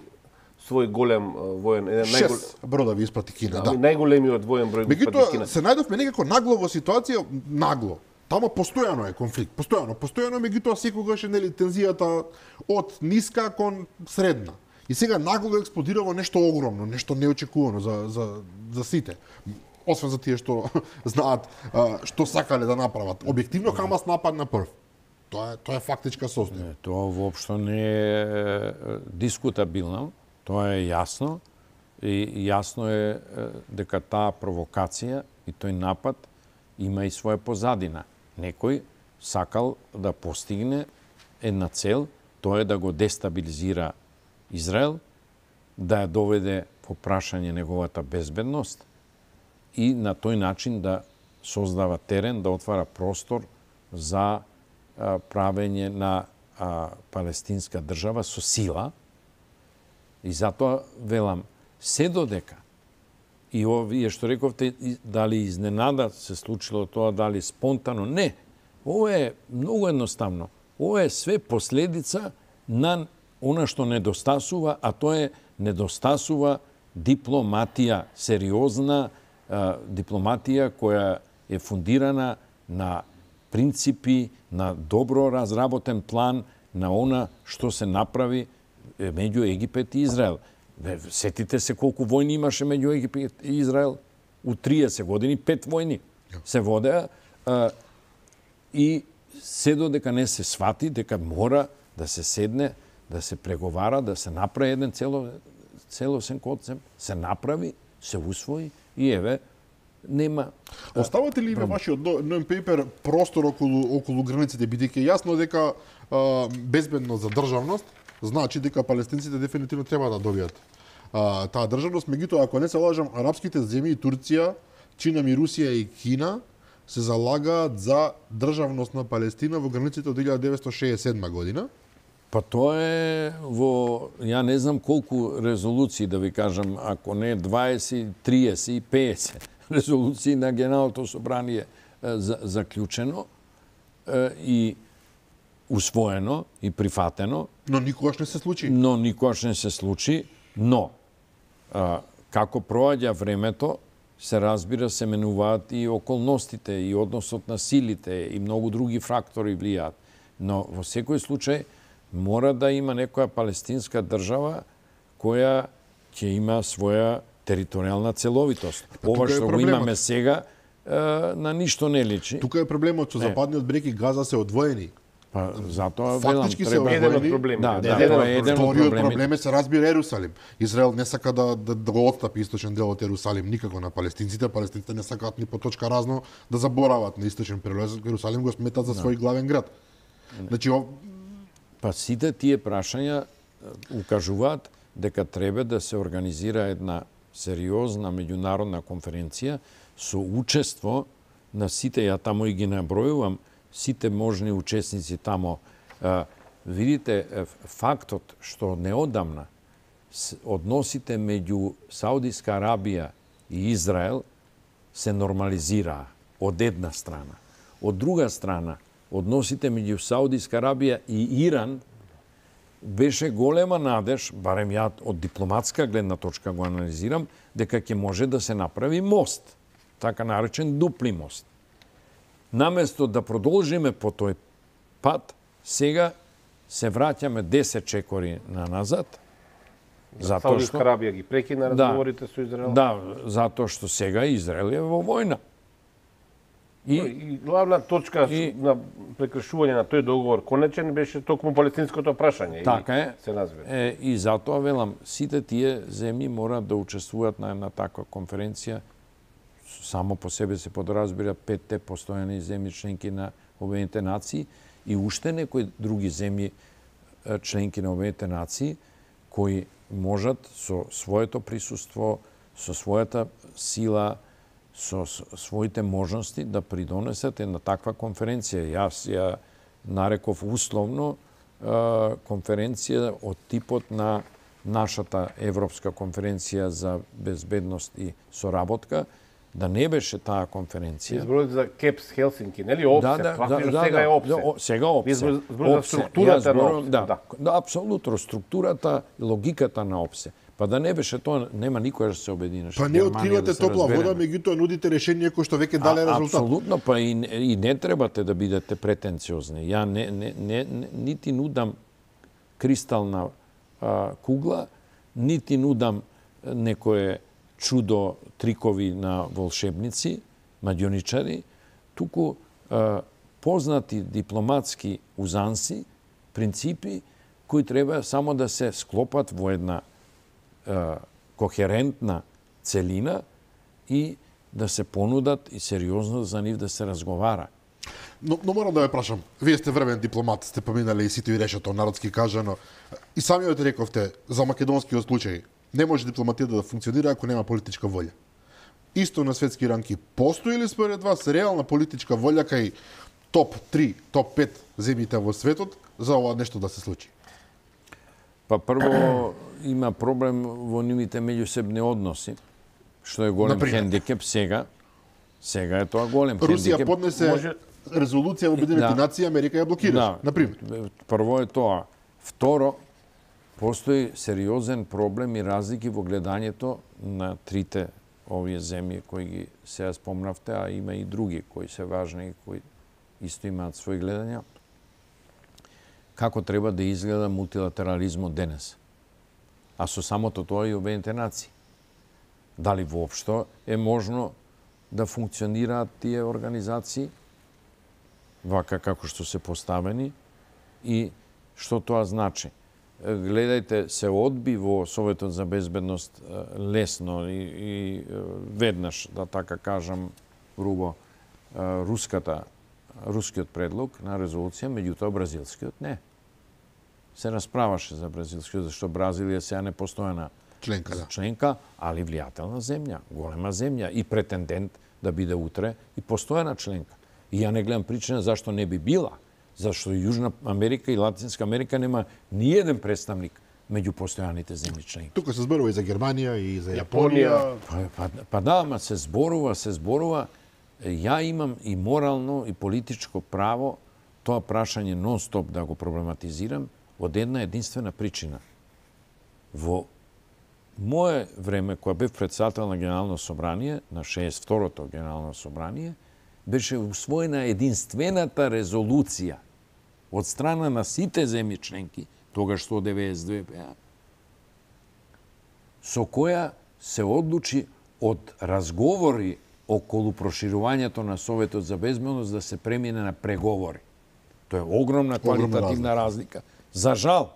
свој голем воен, еден најгол... Шест бродови испрати Кина, да. да. Најголемиот воен број го испрати Кина. Се најдовме некако нагло во ситуација, нагло. Тамо постојано е конфликт, постојано, постојано, меѓутоа секогаш е нели тензијата од ниска кон средна. И сега нагло експлодира во нешто огромно, нешто неочекувано за за за сите. Освен за тие што знаат а, што сакале да направат. Објективно Хамас нападна прв. Тоа е тоа е фактичка состојба. Тоа воопшто не е дискутабилно, тоа е јасно и јасно е дека таа провокација и тој напад има и своја позадина. Некој сакал да постигне една цел, тоа е да го дестабилизира Израел, да ја доведе во прашање неговата безбедност и на тој начин да создава терен, да отвара простор за а, правење на а, палестинска држава со сила. И затоа велам, се додека и овие што рековте, дали изненада се случило тоа, дали спонтано, не. Ова е многу едноставно. Ова е све последица на она што недостасува, а тоа е недостасува дипломатија, сериозна а, дипломатија која е фундирана на принципи, на добро разработен план, на она што се направи меѓу Египет и Израел. Сетите се колку војни имаше меѓу Египет и Израел. У триесет години пет војни се водеа и се додека не се свати дека мора да се седне, да се преговара, да се направи еден цело, целосен концепт, се направи, се усвои и еве нема. Оставате ли во вашиот non-paper простор околу околу границите, бидејќи јасно дека а, безбедност за државност значи дека палестинците дефинитивно треба да добијат а, таа државност, меѓутоа ако не се лажам, арапските земји, Турција, Чина, Русија и Кина се залагаат за државност на Палестина во границите од илјада деветстотини шеесет и седма година. Па тоа е во, ја не знам колку резолуции, да ви кажам, ако не дваесет, триесет и песет резолуции на Генералното собрание за, заклучено и усвоено и прифатено. Но никогаш не се случи. Но никогаш не се случи, но а, како проаѓа времето, се разбира, се менуваат и околностите, и односот на силите, и многу други фактори влијаат. Но во секој случај мора да има некоја палестинска држава која ќе има своја територијална целовитост. Па, ова што го имаме сега на ништо не личи. Тука е проблемот што западниот брег и Газа се одвоени. Па затоа фактички велам, се треба еден од проблемите. Да, да, еден тоа е еден од Вториот проблемите. проблем е, се разбира, Ерусалим. Израел не сака да, да, да го отстапи источен дел од Ерусалим никако на палестинците. Палестинците не сакаат ни по точка разно да заборават на источен прелез. Ерусалим го сметат за свој главен град. Значи, ов... Па сите тие прашања укажуваат дека треба да се организира една сериозна меѓународна конференција со учество на сите, ја тамо и ги набројувам, сите можни учесници тамо. Видите, фактот што неодамна односите меѓу Саудиска Арабија и Израел се нормализираа од една страна. Од друга страна, односите меѓу Саудиска Арабија и Иран беше голема надеж, барем ја од дипломатска гледна точка го анализирам, дека ќе може да се направи мост, така наречен дупли мост. Наместо да продолжиме по тој пат, сега се враќаме десет чекори на назад. Затоа што Саудиска Арабија ги прекина разговорите да, со Израел. Да, затоа што сега Израел е во војна. И, и главна точка и, на прекршување на тој договор конечен беше токму палестинското прашање. Така е. Се назва. Е, и затоа велам, сите тие земји мораат да учествуваат на една таква конференција. Само по себе се подразбира петте постојани земји членки на Обединетите нации и уште некои други земји членки на Обединетите нации кои можат со своето присуство, со својата сила, со своите можности да придонесат една таква конференција. Јас ја нареков условно конференција од типот на нашата Европска конференција за безбедност и соработка, да не беше таа конференција. Избројте за Кепс Хелсинки, нели ОПСЕ? Да, да, да, да, сега е ОПСЕ. Да, сега ОПСЕ. Избројте за структурата на ОПСЕ. Да, да. да, апсолутно структурата, логиката на ОПСЕ. Па да не беше тоа, нема никој да се обединеше. Па не откривате да топла вода, меѓутоа нудите решение кои што веќе дале резултат. Апсолутно, па и, и не требате да бидете претенциозни. Ја не, не, не, не нити нудам кристална а, кугла, нити нудам некое чудо трикови на волшебници, маѓоничари, туку а, познати дипломатски узанси, принципи кои треба само да се склопат во една а, кохерентна целина и да се понудат и сериозно за нив да се разговара. Но, но морам да ве прашам, вие сте врвен дипломат, сте поминали и сите и решето, народски кажано, и самиот рековте за македонскиот случај, не може дипломатијата да функционира ако нема политичка волја. Исто на светски ранки, постои ли според вас реална политичка волја кај топ три, топ пет земјите во светот за ова нешто да се случи? Па прво има проблем во нивните меѓусебни односи, што е голем Например? хендикеп сега. Сега е тоа голем Русија хендикеп. поднесе Може... резолуција во Обединетите Да. нации, Америка ја блокираше, Да. например. Прво е тоа. Второ, постои сериозен проблем и разлики во гледањето на трите овие земји кои ги сега спомнавте, а има и други кои се важни и кои исто имаат своји гледања. Како треба да изгледа мултилатерализмот денес? а со самото тоа и Обединените нации. Дали воопшто е можно да функционираат тие организации вака како што се поставени и што тоа значи. Гледајте, се одби во Советот за безбедност лесно и, и веднаш, да така кажам, грубо, руската, рускиот предлог на резолуција, меѓутоа бразилскиот не. Се расправаше за бразилскиот, зашто Бразилија сега не постојана членка, да. членка, али влијателна земја, голема земја и претендент да биде утре и постојана членка. И ја не гледам причина зашто не би била. Зашто Јужна Америка и Латинска Америка нема ни еден представник меѓу постојаните земји членки. Тука се зборува и за Германија и за Јапонија. Па, па, па да, ама се зборува, се зборува. Ја имам и морално и политичко право тоа прашање нон-стоп да го проблематизирам од една единствена причина. Во мое време, кога бев председател на Генерално собрание, на шеесет и второто Генерално собрание, беше усвоена единствената резолуција од страна на сите земји членки, тогаш сто деветдесет и две беа, со која се одлучи од разговори околу проширувањето на Советот за безбедност да се премине на преговори. Тоа е огромна квалитативна разлика. За жал,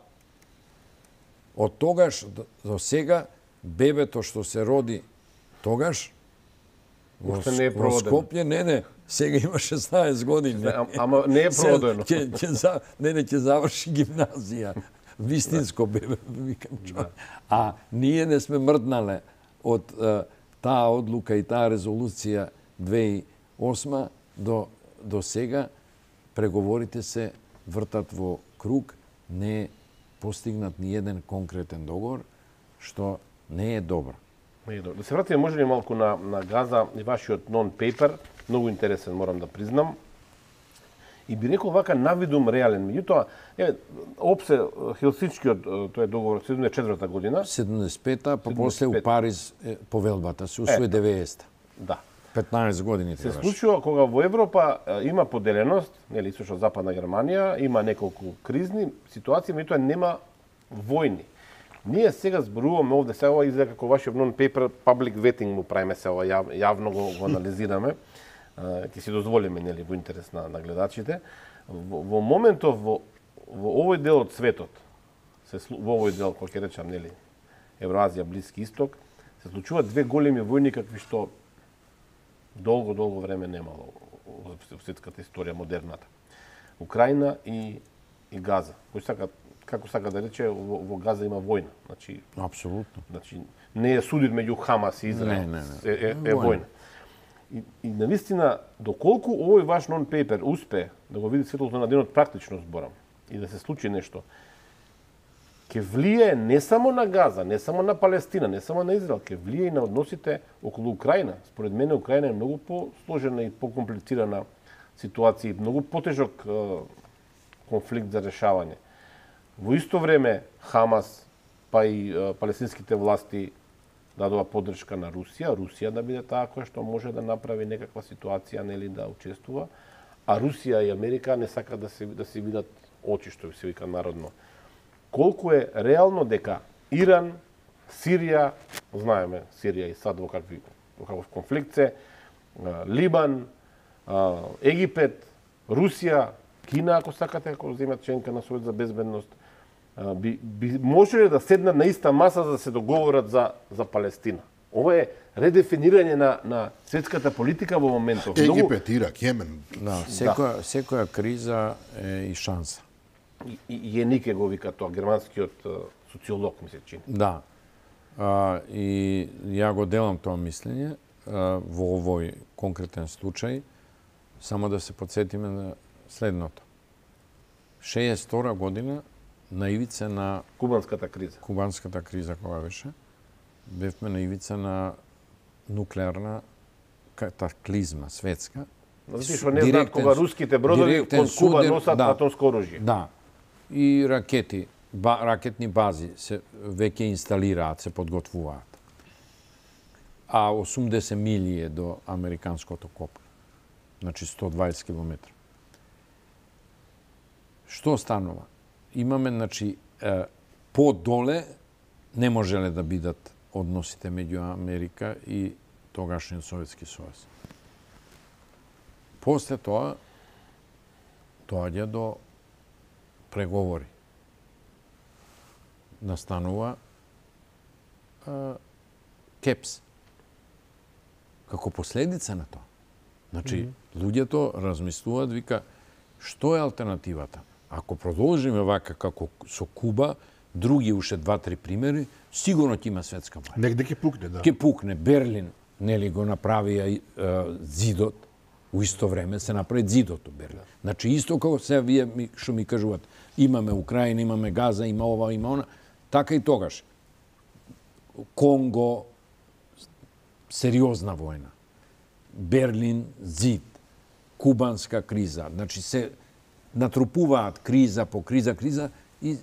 од тогаш до сега, бебето што се роди тогаш, во, не е во Скопје, не, не, сега има шеснаесет години. А, ама не е проводено. Ќе, ќе, за, не, не, ќе заврши гимназија. Вистинско бебе, викам човек. А ние не сме мрднале од е, таа одлука и таа резолуција две тисачи и осма до, до сега. Преговорите се вртат во круг, не е постигнат ни еден конкретен договор, што не е добро. Да се вратиме може ли малку на, на Газа и вашиот нон-пейпер, многу интересен, морам да признам. И би рекол вака навидум реален. Меѓутоа, еве, опсе Хелсинскиот тој договор седумдесет и четврта година. седумдесет и пета, па после у Париз е, повелбата се усвои деветдесета. Да. петнаесет години Се требаше. случува кога во Европа е, има поделеност, нели источно-западна Германија, има неколку кризни ситуации, меѓутоа нема војни. Ние сега зборуваме овде, сега ова изгледа како вашиот нон-пейпер, public vetting му правиме се ова, јав, јавно го, го анализираме. Ќе си дозволиме, нели, во интерес на, на гледачите. Во, во моментов, во, во овој дел од светот, се, во овој дел, кој ќе речам, нели, Евроазија, Блиски Исток, се случуваат две големи војни, какви што долго, долго време немало во светската историја, модерната. Украина и, и Газа. Кој сака, како сака да рече, во, во Газа има војна. Значи, Апсолутно. Значи, не е судир меѓу Хамас и Израел. Не, не, не. Е, е, е војна. И, и навистина, доколку овој ваш нон-пейпер успе да го види светлото на денот, практично зборам, и да се случи нешто, ќе влијае не само на Газа, не само на Палестина, не само на Израел, ќе влијае и на односите околу Украина. Според мене Украина е многу посложена и покомплицирана ситуација, многу потежок е, конфликт за решавање. Во исто време Хамас, па и е, палестинските власти дадува поддршка на Русија, Русија да биде таа која што може да направи некаква ситуација, нели, да учествува, а Русија и Америка не сакаат да се да се видат очи, што се вика народно. Колку е реално дека Иран, Сирија, знаеме Сирија и сад во какви во каков конфликт се, Либан, Египет, Русија, Кина, ако сакате, ако земат членка на Совет за безбедност, би, би можеле да седнат на иста маса за да се договорат за, за Палестина. Ова е редефинирање на, на светската политика во моментов. Египет, Ирак, Јемен. Да, секоја, да. секоја криза е и шанса. И, и Јенике го вика тоа, германскиот социолог, ми се чини. Да. А, и ја го делам тоа мислење а, во овој конкретен случај, само да се подсетиме на следното. шеесет и втора година на ивица на Кубанската криза. Кубанската криза кога беше, бевме на ивица на нуклеарна катаклизма светска. Знаете што не знаат кога руските бродови кон Куба носат да, атомско оружје. Да. И ракети, ба, ракетни бази се веќе инсталираат, се подготвуваат. А осумдесет милји е до американското копно. Значи сто и дваесет километри. Што станува? Имаме, значи, е, подоле не можеле да бидат односите меѓу Америка и тогашниот Советски сојуз. После тоа доаѓа до преговори. Настанува а, КЕПС. Како последица на тоа. Значи, mm -hmm. луѓето размислуваат, вика, што е алтернативата? Ако продолжиме вака како со Куба, други уште два-три примери, сигурно ќе има светска војна. Негде ќе пукне, да. Ќе пукне. Берлин, нели, го направија зидот, у исто време се направи зидот у Берлин. Значи, исто како се вие ми, што ми кажуват, имаме Украина, имаме Газа, има ова, има она, така и тогаш. Конго, сериозна војна. Берлин, зид. Кубанска криза. Значи, се натрупуваат криза по криза, криза и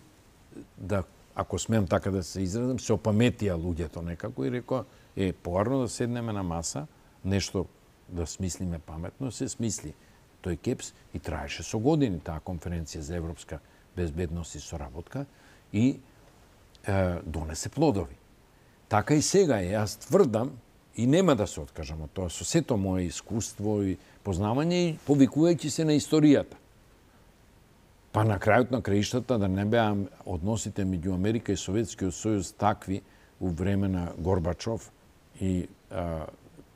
да, ако смеам така да се изразам, се опаметија луѓето некако и рекоа, е, поарно да седнеме на маса, нешто да смислиме паметно, се смисли. Тој КЕПС и траеше со години таа конференција за европска безбедност и соработка и е, донесе плодови. Така и сега е. Јас тврдам и нема да се откажам од тоа, со сето мое искуство и познавање и повикувајќи се на историјата. Па на крајот на краиштата да не беа односите меѓу Америка и Советскиот сојуз такви у време на Горбачов и а,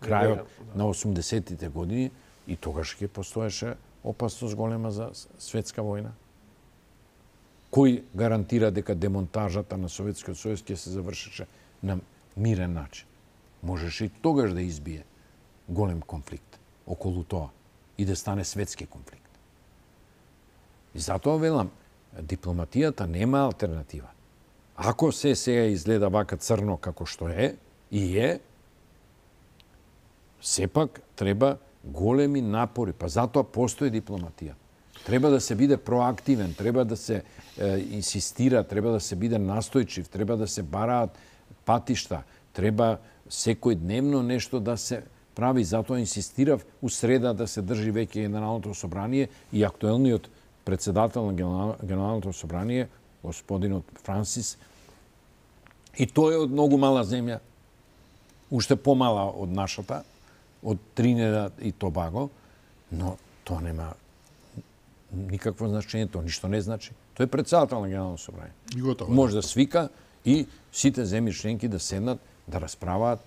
крајот да. на осумдесетите години и тогаш ќе постоеше опасност голема за светска војна. Кој гарантира дека демонтажата на Советскиот сојуз ќе се завршеше на мирен начин? Можеше и тогаш да избие голем конфликт околу тоа и да стане светски конфликт. И затоа велам, дипломатијата нема алтернатива. Ако се сега изгледа вака црно како што е, и е, сепак треба големи напори, па затоа постои дипломатија. Треба да се биде проактивен, треба да се е, инсистира, треба да се биде настојчив, треба да се бараат патишта, треба секој дневно нешто да се прави. Затоа инсистирав у среда да се држи веќе Генералното собрание и актуелниот председател на Генералното собрание, господинот Франсис, и тој е од многу мала земја, уште помала од нашата, од Тринидад и Тобаго, но тоа нема никакво значење, тоа ништо не значи. Тој е председател на Генералното собрание. Може да свика и сите земји членки да седнат, да расправаат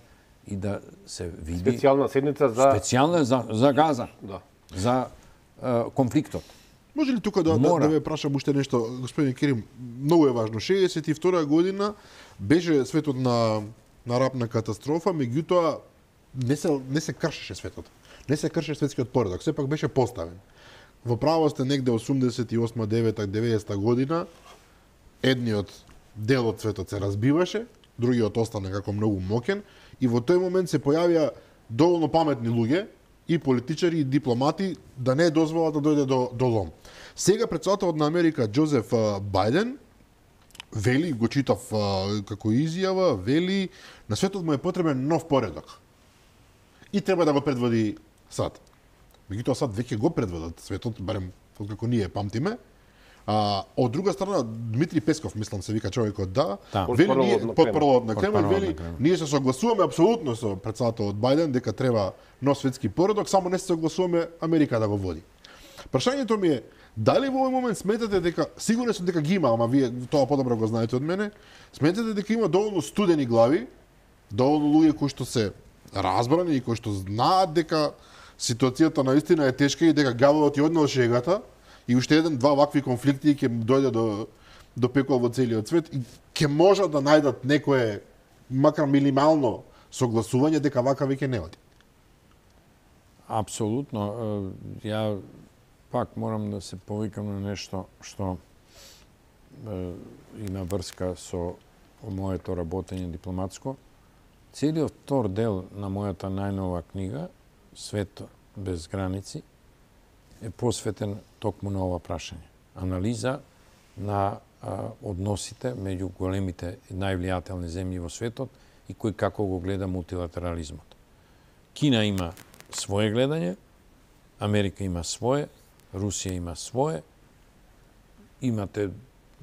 и да се види... Специјална седница за... Специјална за, за Газа, да. за е, конфликтот. Може ли тука да, да, да ве прашам уште нешто, господин Керим, многу е важно. шеесет и втора година беше светот на, на рапна катастрофа, меѓутоа не се, не се кршеше светот. Не се кршеше светскиот поредок, сепак беше поставен. Во право сте негде осумдесет и осма, девета, деветдесета година, едниот дел од светот се разбиваше, другиот остана како многу мокен, и во тој момент се појавија доволно паметни луѓе, и политичари и дипломати да не дозволат да дојде до, до лом. Сега председателот на Америка Џозеф Бајден вели, го читав како изјава, вели на светот му е потребен нов поредок. И треба да го предводи САД. Меѓутоа САД веќе го предводат светот, барем како ние памтиме. А, од друга страна, Дмитри Песков, мислам се вика човекот, да, да. вели ние, потпрвод на Кремљ, вели, ние се согласуваме апсолутно со председателот Бајден дека треба нов светски поредок, само не се согласуваме Америка да го води. Прашањето ми е, дали во овој момент сметате дека, сигурно сум дека ги има, ама вие тоа подобро го знаете од мене, сметате дека има доволно студени глави, доволно луѓе кои што се разбрани и кои што знаат дека ситуацијата наистина е тешка и дека гаволот ја однел шегата, и уште еден, два вакви конфликти ќе дојде до, до пекол во целиот свет и ќе можат да најдат некое, макар минимално, согласување дека вака веќе не оди. Апсолутно. Ја пак морам да се повикам на нешто што е, има врска со моето работење дипломатско. Целиот втор дел на мојата најнова книга, Свет без граници, е посветен токму на ова прашање. Анализа на а, односите меѓу големите и највлијателни земји во светот и кој како го гледа мултилатерализмот. Кина има свое гледање, Америка има свое, Русија има свое, имате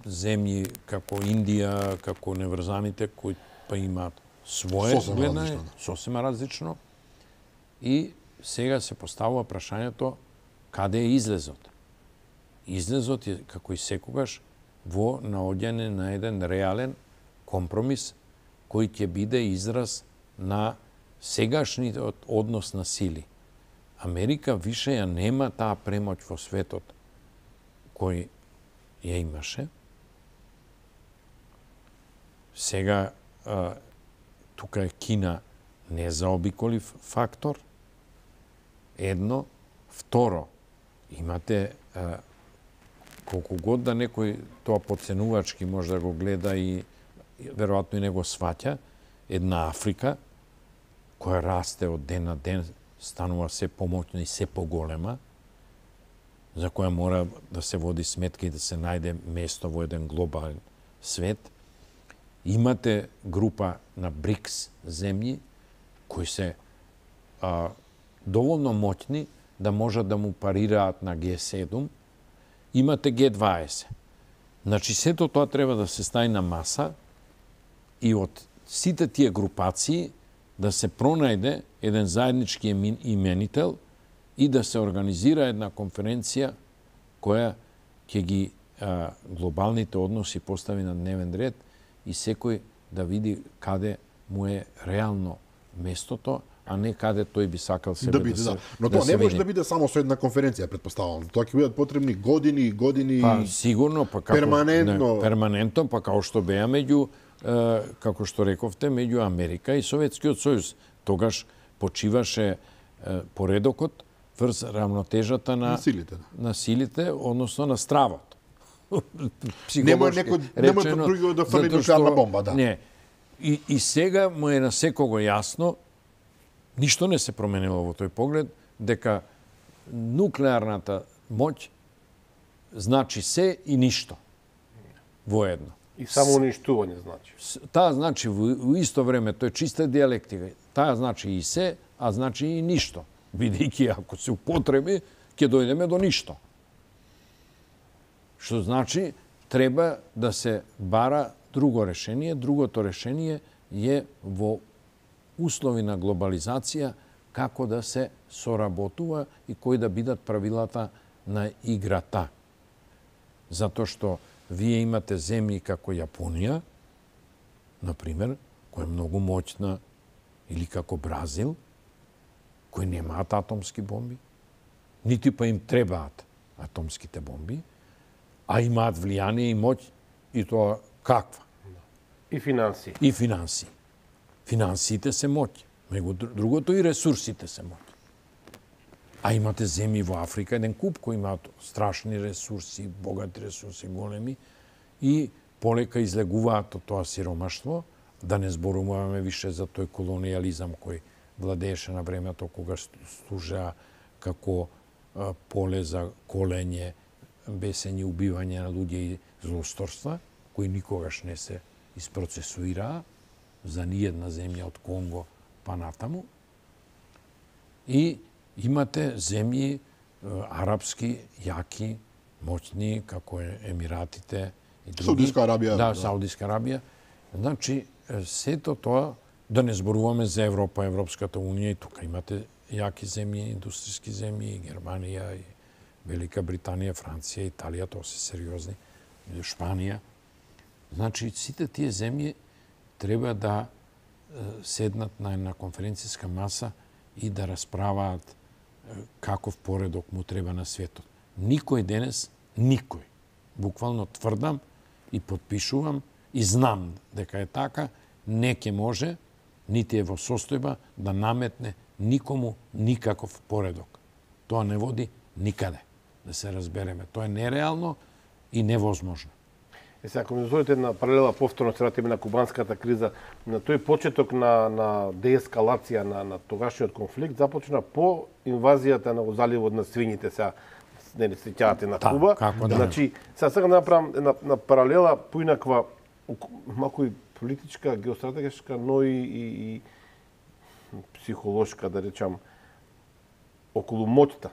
земји како Индија, како неврзаните, кои па имаат свое Сосема гледање, различно, да. сосема различно. И сега се поставува прашањето каде е излезот. Излезот е, како и секогаш, во наоѓање на еден реален компромис кој ќе биде израз на сегашниот однос на сили. Америка више ја нема таа премоќ во светот кој ја имаше. Сега а, тука е Кина незаобиколив фактор. Едно. Второ, имате а, колку год да некој тоа подценувачки може да го гледа и веројатно и не го сваќа, една Африка која расте од ден на ден, станува се помоќна и се поголема, за која мора да се води сметка и да се најде место во еден глобален свет. Имате група на БРИКС земји кои се а, доволно моќни да можат да му парираат на Г седум. Имате Г дваесет. Значи, сето тоа треба да се стави на маса и од сите тие групации да се пронајде еден заеднички именител и да се организира една конференција која ќе ги а, глобалните односи постави на дневен ред и секој да види каде му е реално местото, а не каде тој би сакал себе да биде, да се да. Но да тоа се не може види. да биде само со една конференција, претпоставувам. Тоа ќе бидат потребни години и години. Па сигурно, па како перманентно. Не, перманентно, па како што беа меѓу е, како што рековте, меѓу Америка и Советскиот сојуз. Тогаш почиваше е, поредокот врз равнотежата на На силите, да. на силите, односно на стравот. Нема некој, нема друго да фрли нуклеарна бомба, да. Не. И, и сега му е на секого јасно, ништо не се променило во тој поглед, дека нуклеарната моќ значи се и ништо воедно. И само уништување значи. Таа значи во, во исто време, тој е чиста диалектика. Таа значи и се, а значи и ништо. Бидејќи ако се употреби, ќе дојдеме до ништо. Што значи треба да се бара друго решение. Другото решение е во услови на глобализација како да се соработува и кои да бидат правилата на играта. Затоа што вие имате земји како Јапонија, например, која е многу моќна, или како Бразил, кои немаат атомски бомби, нити па им требаат атомските бомби, а имаат влијание и моќ, и тоа каква? И финансии. И финансии. Финансиите се моќ. Меѓу другото и ресурсите се моќ. А имате земји во Африка, еден куп кои имаат страшни ресурси, богати ресурси, големи, и полека излегуваат од тоа сиромаштво, да не зборуваме више за тој колониализам кој владееше на времето кога служа како а, поле за колење, бесење, убивање на луѓе и злосторства, кои никогаш не се isprocesuirаа за ниједна земја од Конго па натаму. И имате земји арапски, јаки, моćни, како е Емиратите и други. Саудиска Арабија. Да, Саудиска Арабија. Значи, сето тоа, да не зборуваме за Европа, Европската Унија, и тука имате јаки земји, индустријски земји, и Германија, и Велика Британија, Франција, Италија, тоа се сериозни, Шпанија. Значи, сите тие земји треба да седнат на една конференцијска маса и да расправаат каков поредок му треба на светот. Никој денес, никој, буквално тврдам и подпишувам и знам дека е така, не ке може, нити е во состојба да наметне никому никаков поредок. Тоа не води никаде, да се разбереме. Тоа е нереално и невозможно. Е, сега, ако ми дозволите една паралела, повторно се вратиме на кубанската криза, на тој почеток на, на деескалација на, на тогашниот конфликт започна по инвазијата на заливот на свињите, сега не ли сеќавате на Куба. Како да. Значи, сега сакам да направам една, една паралела поинаква, малку и политичка, геостратешка, но и, и, и психолошка, да речам, околу моќта.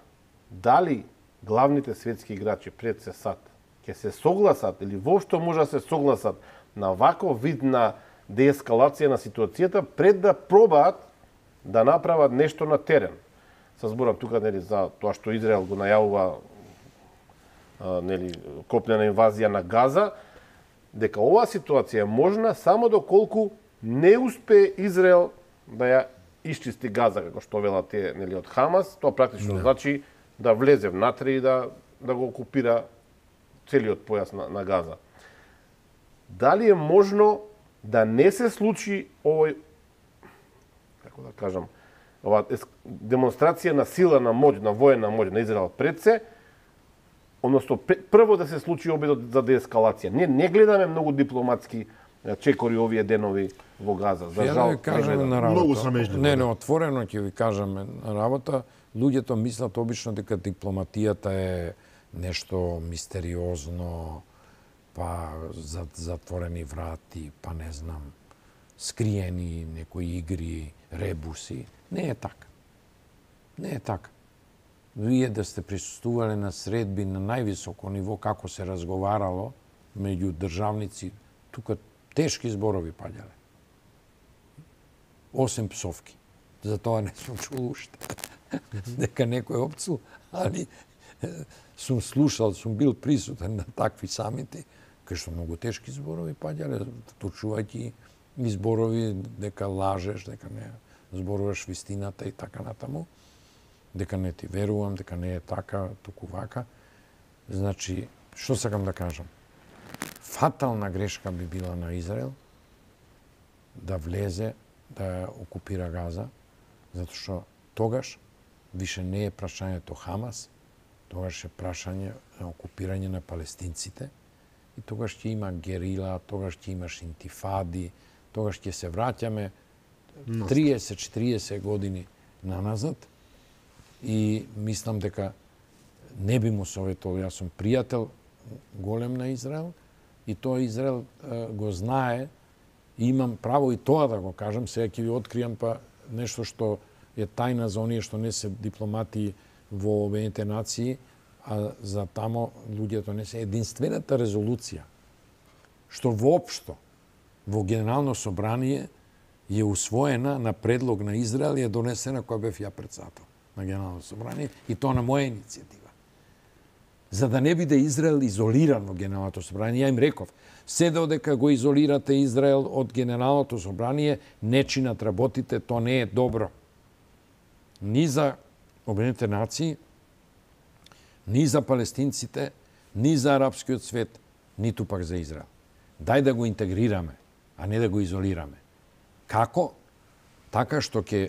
Дали главните светски играчи пред се сад ќе се согласат или воопшто може да се согласат на ваков вид на деескалација на ситуацијата пред да пробаат да направат нешто на терен. Се зборам тука нели за тоа што Израел го најавува нели копнена инвазија на Газа, дека оваа ситуација е можна само доколку не успее Израел да ја исчисти Газа, како што велат тие нели од Хамас, тоа практично не. Значи да влезе внатре и да да го окупира целиот појас на, на Газа. Дали е можно да не се случи овој, како да кажам, ова демонстрација на сила, на моќ, на воена моќ на Израел пред се, односно прво да се случи обидот за деескалација. Не не гледаме многу дипломатски чекори овие денови во Газа. За жал, ја да ви кажеме на работа. Многу срамежливо. Не, не, отворено ќе ви кажеме на работа. Луѓето мислат обично дека дипломатијата е нешто мистериозно, па за затворени врати, па не знам, скриени некои игри, ребуси. Не е така. Не е така. Вие да сте присуствувале на средби на највисоко ниво како се разговарало меѓу државници, тука тешки зборови паѓале. Осем псовки. За тоа не сум чул уште. Дека некој опцу, али сум слушал, сум бил присутен на такви самити, кај што многу тешки зборови паѓале, точувајќи и зборови дека лажеш, дека не зборуваш вистината и така натаму, дека не ти верувам, дека не е така, туку вака. Значи, што сакам да кажам? Фатална грешка би била на Израел да влезе, да окупира Газа, затоа што тогаш више не е прашањето Хамас, тогаш е прашање на окупирање на палестинците и тогаш ќе има герила, тогаш ќе имаш интифади, тогаш ќе се враќаме триесет четириесет години наназад и мислам дека не би му советувал, јас сум пријател голем на Израел и тоа Израел е, го знае и имам право и тоа да го кажам, сега ќе ви откријам па нешто што е тајна за оние што не се дипломати во Обединетите нации, а за тамо луѓето не се единствената резолуција што воопшто во Генерално собрание е усвоена на предлог на Израел и е донесена која бев ја председател на Генерално собрание и тоа на моја иницијатива. За да не биде Израел изолиран во Генералното собрание, ја им реков, се додека го изолирате Израел од Генералното собрание, не чинат работите, тоа не е добро. Ни за Обединетите нации, ни за палестинците, ни за арапскиот свет, ниту пак за Израел. Дај да го интегрираме, а не да го изолираме. Како? Така што ќе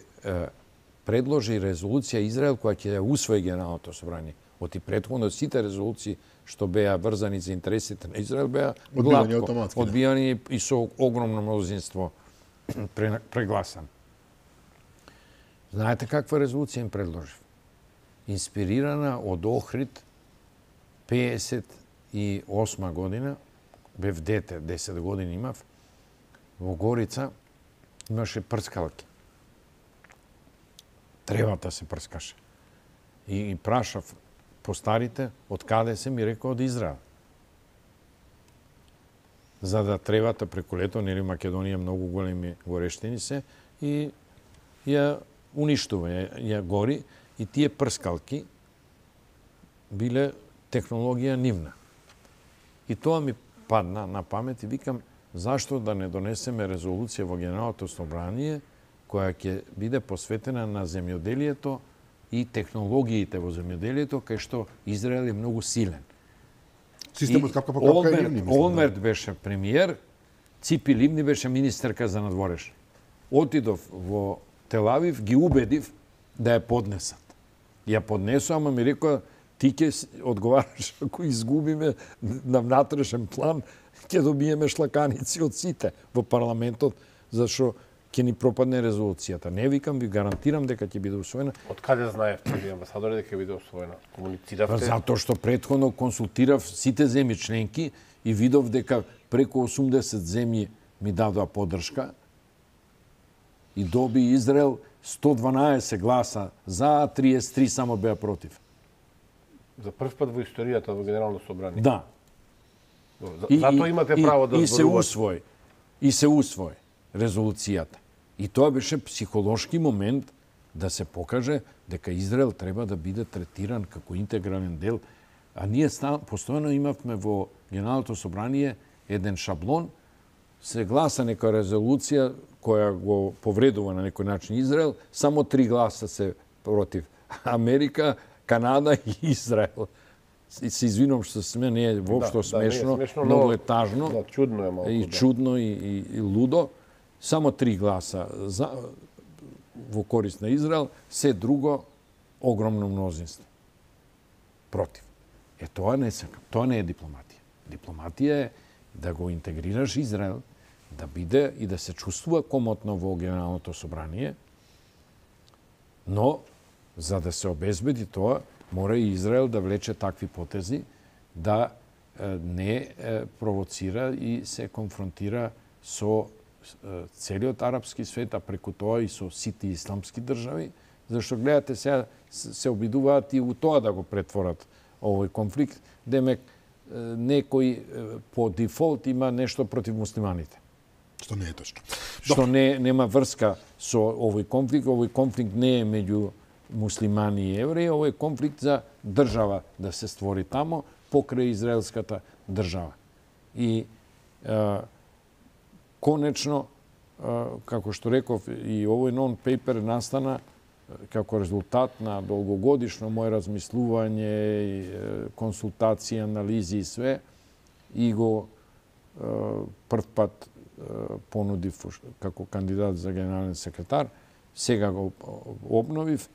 предложи резолуција Израел која ќе ја усвои Генералното собрание. Од и претходно сите резолуции што беа врзани за интересите на Израел беа гладко одбијани и со огромно мнозинство прегласан. Знаете каква резолуција им предложив? Инспирирана од Охрид пеесет и осма година, бев дете, десет години имав, во Горица имаше прскалки. Тревата се прскаше. И, и прашав по старите, од каде се, ми рекоа од Израел. За да тревата преку лето, нели Македонија многу големи горештини се, и ја уништува, ја, ја гори, и тие прскалки биле технологија нивна. И тоа ми падна на памет и викам, зашто да не донесеме резолуција во Генералното собрание која ќе биде посветена на земјоделието и технологиите во земјоделието, кај што Израел е многу силен. Системот капка по капка е Ливни. Олмерт беше премиер, Ципи Ливни беше министерка за надвореш. Отидов во Телавив, ги убедив да ја поднесат. Ја поднесу, ама ми рекоа, ти ќе одговараш ако изгубиме на внатрешен план, ќе добиеме шлаканици од сите во парламентот, зашто ќе ни пропадне резолуцијата. Не викам, ви гарантирам дека ќе биде усвоена. Од каде знаевте ви амбасадори дека ќе биде усвоена? Комунициравте? Па затоа што претходно консултирав сите земји членки и видов дека преку осумдесет земји ми дадоа поддршка и доби Израел сто дванаесет гласа за, триесет и три само беа против. За прв пат во историјата во Генерално собрание. Да. Затоа имате право да и, и се усвои. И се усвои резолуцијата. И тоа беше психолошки момент да се покаже дека Израел треба да биде третиран како интегрален дел. А ние постојано имавме во Генералното собрание еден шаблон, се гласа нека резолуција која го повредува на некој начин Израел, само три гласа се против. Америка, Канада и Израел. И се извинувам што сме, не е воопшто да, смешно, да, не е смешно, многу но... е тажно. Да, чудно е малку. И да. чудно и, и, и лудо. Само три гласа за, во корист на Израел, се друго огромно мнозинство. Против. Е, тоа не сакам. Тоа не е дипломатија. Дипломатија е да го интегрираш Израел, да биде и да се чувствува комотно во Генералното собрание, но за да се обезбеди тоа, мора и Израел да влече такви потези да не провоцира и се конфронтира со целиот арапски свет, а преку тоа и со сите исламски држави, зашто гледате сега се обидуваат и у тоа да го претворат овој конфликт, демек некој по дефолт има нешто против муслиманите. Што не е точно. Што не нема врска со овој конфликт, овој конфликт не е меѓу муслимани и евреи, овој е конфликт за држава да се створи тамо покрај израелската држава. И е, конечно, е, како што реков, и овој нон-пейпер настана како резултат на долгогодишно моје размислување, консултации, анализи и све, и го е, прв пат е, понудив како кандидат за генерален секретар, сега го обновив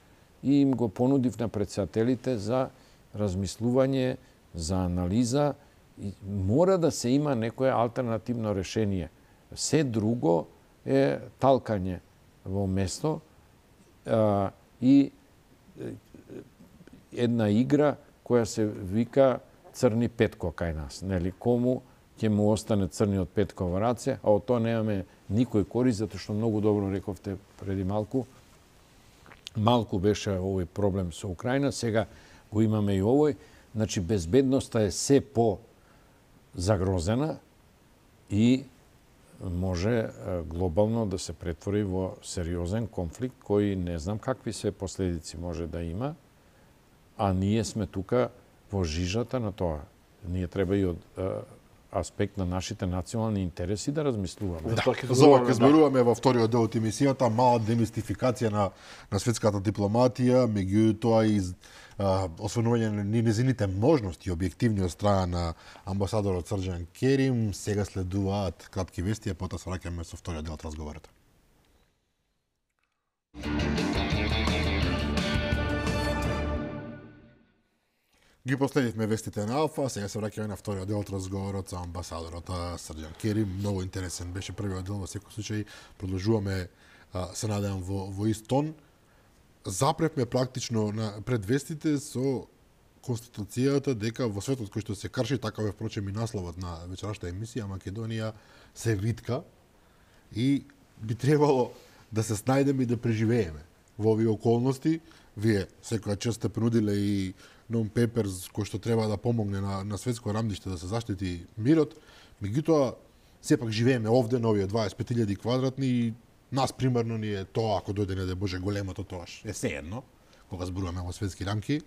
и им го понудив на претседателите за размислување, за анализа. И мора да се има некое алтернативно решение. Се друго е талкање во место а, и една игра која се вика црни петко кај нас. Нели, кому ќе му остане црниот петко во раце, а од тоа немаме никој корист, затоа што многу добро рековте преди малку. Малку беше овој проблем со Украина, сега го имаме и овој. Значи, безбедноста е се по загрозена и може глобално да се претвори во сериозен конфликт кој не знам какви се последици може да има, а ние сме тука во жижата на тоа. Ние треба и од аспект на нашите национални интереси да размислуваме. Да, за ова ќе зборуваме во вториот дел од емисијата, мала демистификација на, на светската дипломатија, меѓутоа и а, освенување на незините можности објективни од страна на амбасадорот Срđan Керим. Сега следуваат кратки вести, а потоа се враќаме со вториот дел од разговорот. Ги последивме вестите на Алфа, сега се враќаме на вториот дел од разговорот со амбасадорот Срđan Керим. Многу интересен беше првиот дел, во секој случај продолжуваме, се надевам, во, во ист тон. Запревме практично на пред вестите со конституцијата дека во светот кој што се крши, такав е впрочем и насловот на вечерашната емисија, Македонија се витка и би требало да се снајдеме и да преживееме во овие околности. Вие секоја чест сте принудиле и нон-пейпер кој што треба да помогне на, на светско рамдиште да се заштити мирот. Меѓутоа, сепак живееме овде на овие дваесет пет илјади квадратни и нас примерно ни е тоа, ако дојде не да Боже големото тоаш. Е сеедно, кога зборуваме во светски рамки.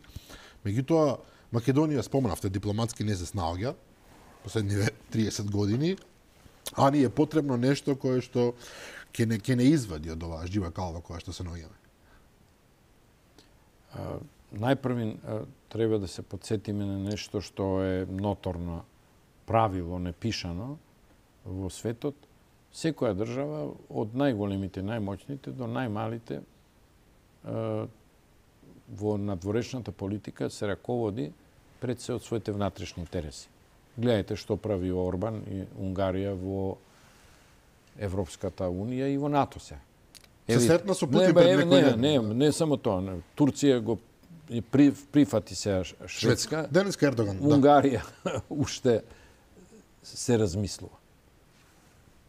Меѓутоа, Македонија, спомнавте, дипломатски не се снаоѓа последниве триесет години, а ни е потребно нешто кое што ќе не, ќе не извади од оваа жива калва која што се наоѓаме. Најпрви треба да се подсетиме на нешто што е ноторно правило, непишано во светот. Секоја држава, од најголемите, најмоćните до најмалите, во надворешната политика се раководи пред се од своите внатрешни интереси. Гледајте што прави Орбан и Унгарија во Европската унија и во НАТО се. Се сретна со Путин пред некој ден? Не, не, не само тоа. Не. Турција го и при, прифати се Шведска. Денеска Ердоган, Унгарија уште се размислува.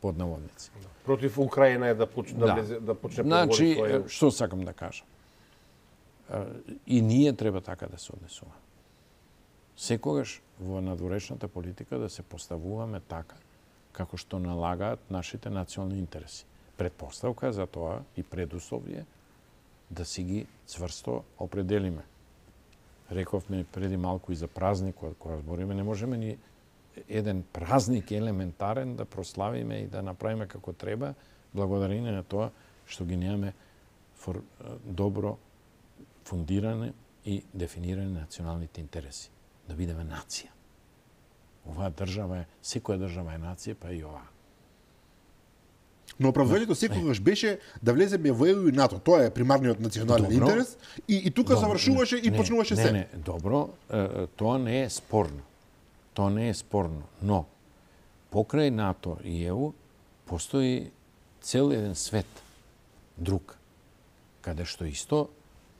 Под наводници. Против Украина е да почне да, да, да почне значи, свој... што сакам да кажам? И ние треба така да се однесуваме. секогаш во надворешната политика да се поставуваме така како што налагаат нашите национални интереси. Предпоставка за тоа и предуслов е да си ги цврсто определиме. Рековме преди малку и за празникот, кога збориме, не можеме ни еден празник елементарен да прославиме и да направиме како треба, благодарение на тоа што ги немаме фор, добро фундиране и дефиниране на националните интереси. Да бидеме нација. Оваа држава е, секоја држава е нација, па и оваа. Но оправданието секогаш беше да влеземе во Е У и НАТО. Тоа е примарниот национален добро. Интерес и, и тука добро. Завршуваше и не, почнуваше не, се. Не, не, добро, тоа не е спорно. Тоа не е спорно, но покрај НАТО и Е У постои цел еден свет, друг, каде што исто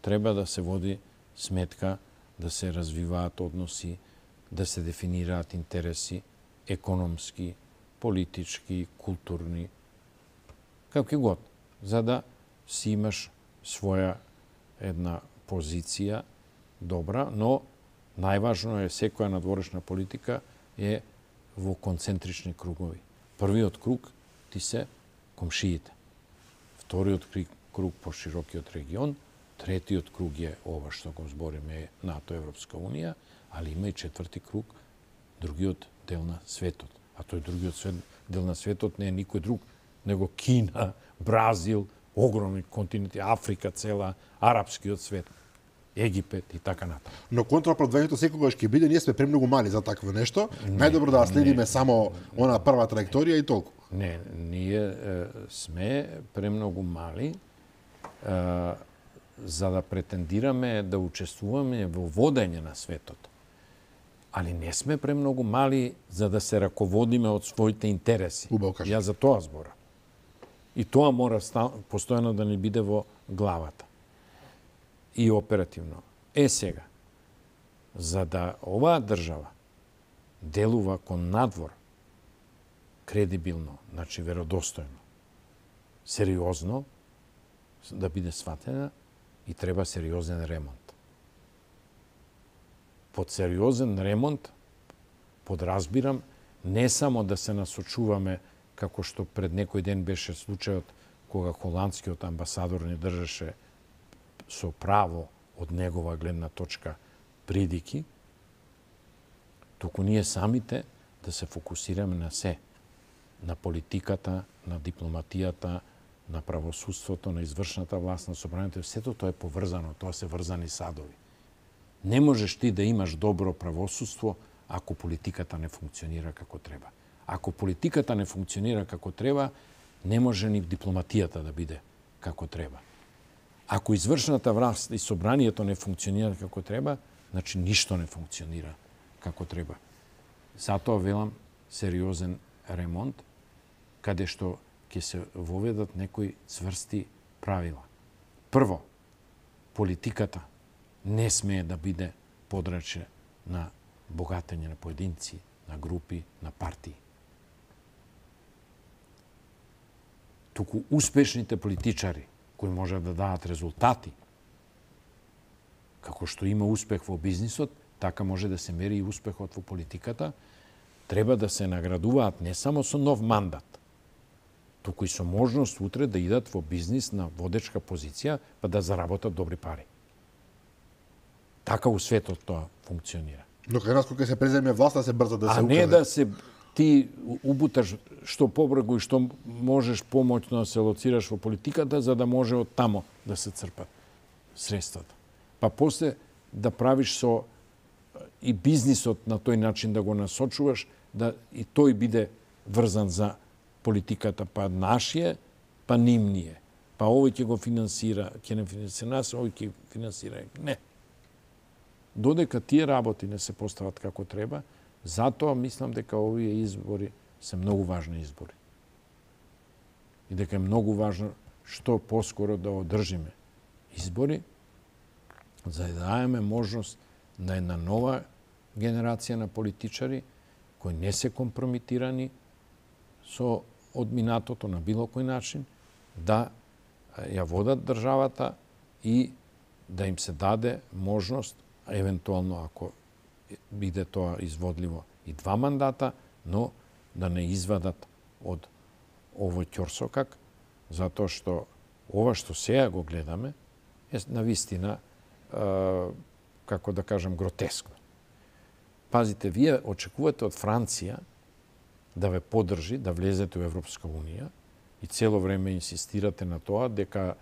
треба да се води сметка, да се развиваат односи, да се дефинираат интереси економски, политички, културни, како год, за да си имаш своја една позиција добра, но најважно е секоја надворешна политика е во концентрични кругови. Првиот круг ти се комшиите. Вториот круг по широкиот регион, третиот круг е ова што го збориме НАТО, Европска унија, али има и четврти круг, другиот дел на светот. А тој другиот свет, дел на светот не е никој друг, него Кина, Бразил, огромни континенти, Африка цела, арапскиот свет, Египет и така натаму. Но контрапродвањето секогаш ќе биде, ние сме премногу мали за такво нешто. Најдобро да следиме не, само она прва траекторија и толку. Не, ние е, сме премногу мали е, за да претендираме да учествуваме во водење на светот. Али не сме премногу мали за да се раководиме од своите интереси. Ја за тоа зборам. И тоа мора постојано да ни биде во главата. И оперативно. Е сега, за да оваа држава делува кон надвор кредибилно, значи веродостојно, сериозно, да биде сватена, и треба сериозен ремонт. Под сериозен ремонт подразбирам не само да се насочуваме како што пред некој ден беше случајот кога холандскиот амбасадор не држеше со право од негова гледна точка придики, туку ние самите да се фокусираме на се, на политиката, на дипломатијата, на правосудството, на извршната власт, на собранието, сето тоа е поврзано, тоа се врзани садови. Не можеш ти да имаш добро правосудство ако политиката не функционира како треба. Ако политиката не функционира како треба, не може ни дипломатијата да биде како треба. Ако извршната власт и собранието не функционира како треба, значи ништо не функционира како треба. Затоа велам сериозен ремонт, каде што ќе се воведат некои цврсти правила. Прво, политиката не смее да биде подраче на богатење на поединци, на групи, на партии. Туку успешните политичари, кои можат да дадат резултати, како што има успех во бизнисот, така може да се мери и успехот во политиката, треба да се наградуваат не само со нов мандат, туку и со можност утре да идат во бизнис на водечка позиција, па да заработат добри пари. Така у светот тоа функционира. Но кај нас кога се преземе власта се брза да се А не да се ти убуташ што побргу и што можеш помоќно да се лоцираш во политиката за да може од тамо да се црпат средствата. Па после да правиш со и бизнисот на тој начин да го насочуваш, да и тој биде врзан за политиката, па нашије, па нимније. Па овој ќе го финансира, ќе не финансира нас, овој ќе финансира. Не. Додека тие работи не се постават како треба, затоа мислам дека овие избори се многу важни избори. И дека е многу важно што поскоро да одржиме избори, за да даеме можност на една нова генерација на политичари кои не се компромитирани со одминатото на било кој начин, да ја водат државата и да им се даде можност, евентуално ако биде тоа изводливо и два мандата, но да не извадат од овој ќорсокак, затоа што ова што сега го гледаме е навистина, како да кажам, гротескно. Пазите, вие очекувате од Франција да ве поддржи, да влезете во Европска Унија и цело време инсистирате на тоа дека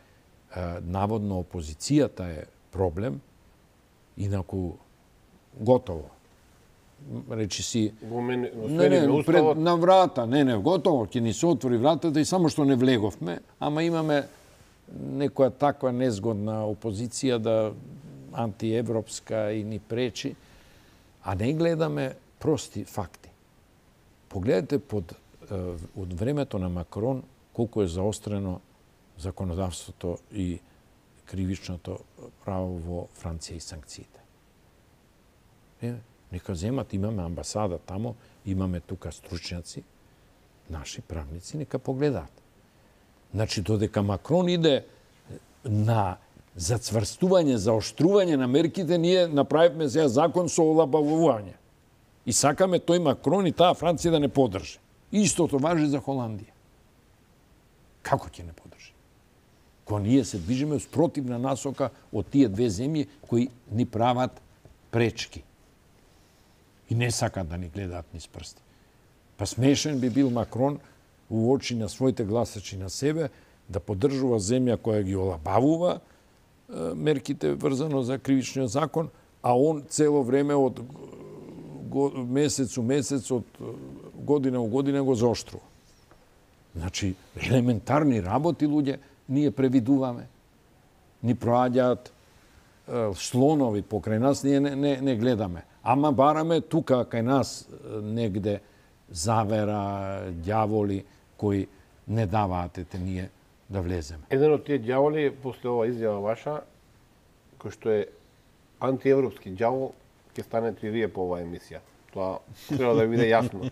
наводно опозицијата е проблем, инаку готово. Речи си... Не, не, пред, на врата, не, не, готово, ќе ни се отвори вратата и само што не влеговме, ама имаме некоја таква незгодна опозиција да антиевропска и ни пречи, а не гледаме прости факти. Погледате под од времето на Макрон колку е заострено законодавството и кривичното право во Франција и санкциите. Е, нека земат, имаме амбасада тамо, имаме тука стручњаци, наши правници, нека погледаат. Значи, додека Макрон иде на зацврстување, заоштрување на мерките, ние направивме сега закон со олабавување. И сакаме тој Макрон и таа Франција да не поддржи. Истото важи за Холандија. Како ќе не поддржи? Кога ние се движиме спротивна насока од тие две земји кои ни прават пречки. И не сакат да ни гледаат низ прсти. Па смешен би бил Макрон у очи на своите гласачи на себе да поддржува земја која ги олабавува мерките врзано за кривичниот закон, а он цело време од месец у месец, од година у година го заоштрува. Значи, елементарни работи, луѓе, ние превидуваме. Ни проаѓаат слонови покрај нас, ние не, не, не гледаме. Ама бараме тука кај нас негде завера, ѓаволи кои не даваат ете ние да влеземе. Еден од тие ѓаволи, после ова изјава ваша, кој што е антиевропски ѓавол, ќе станете и вие по оваа емисија. Тоа треба да биде јасно.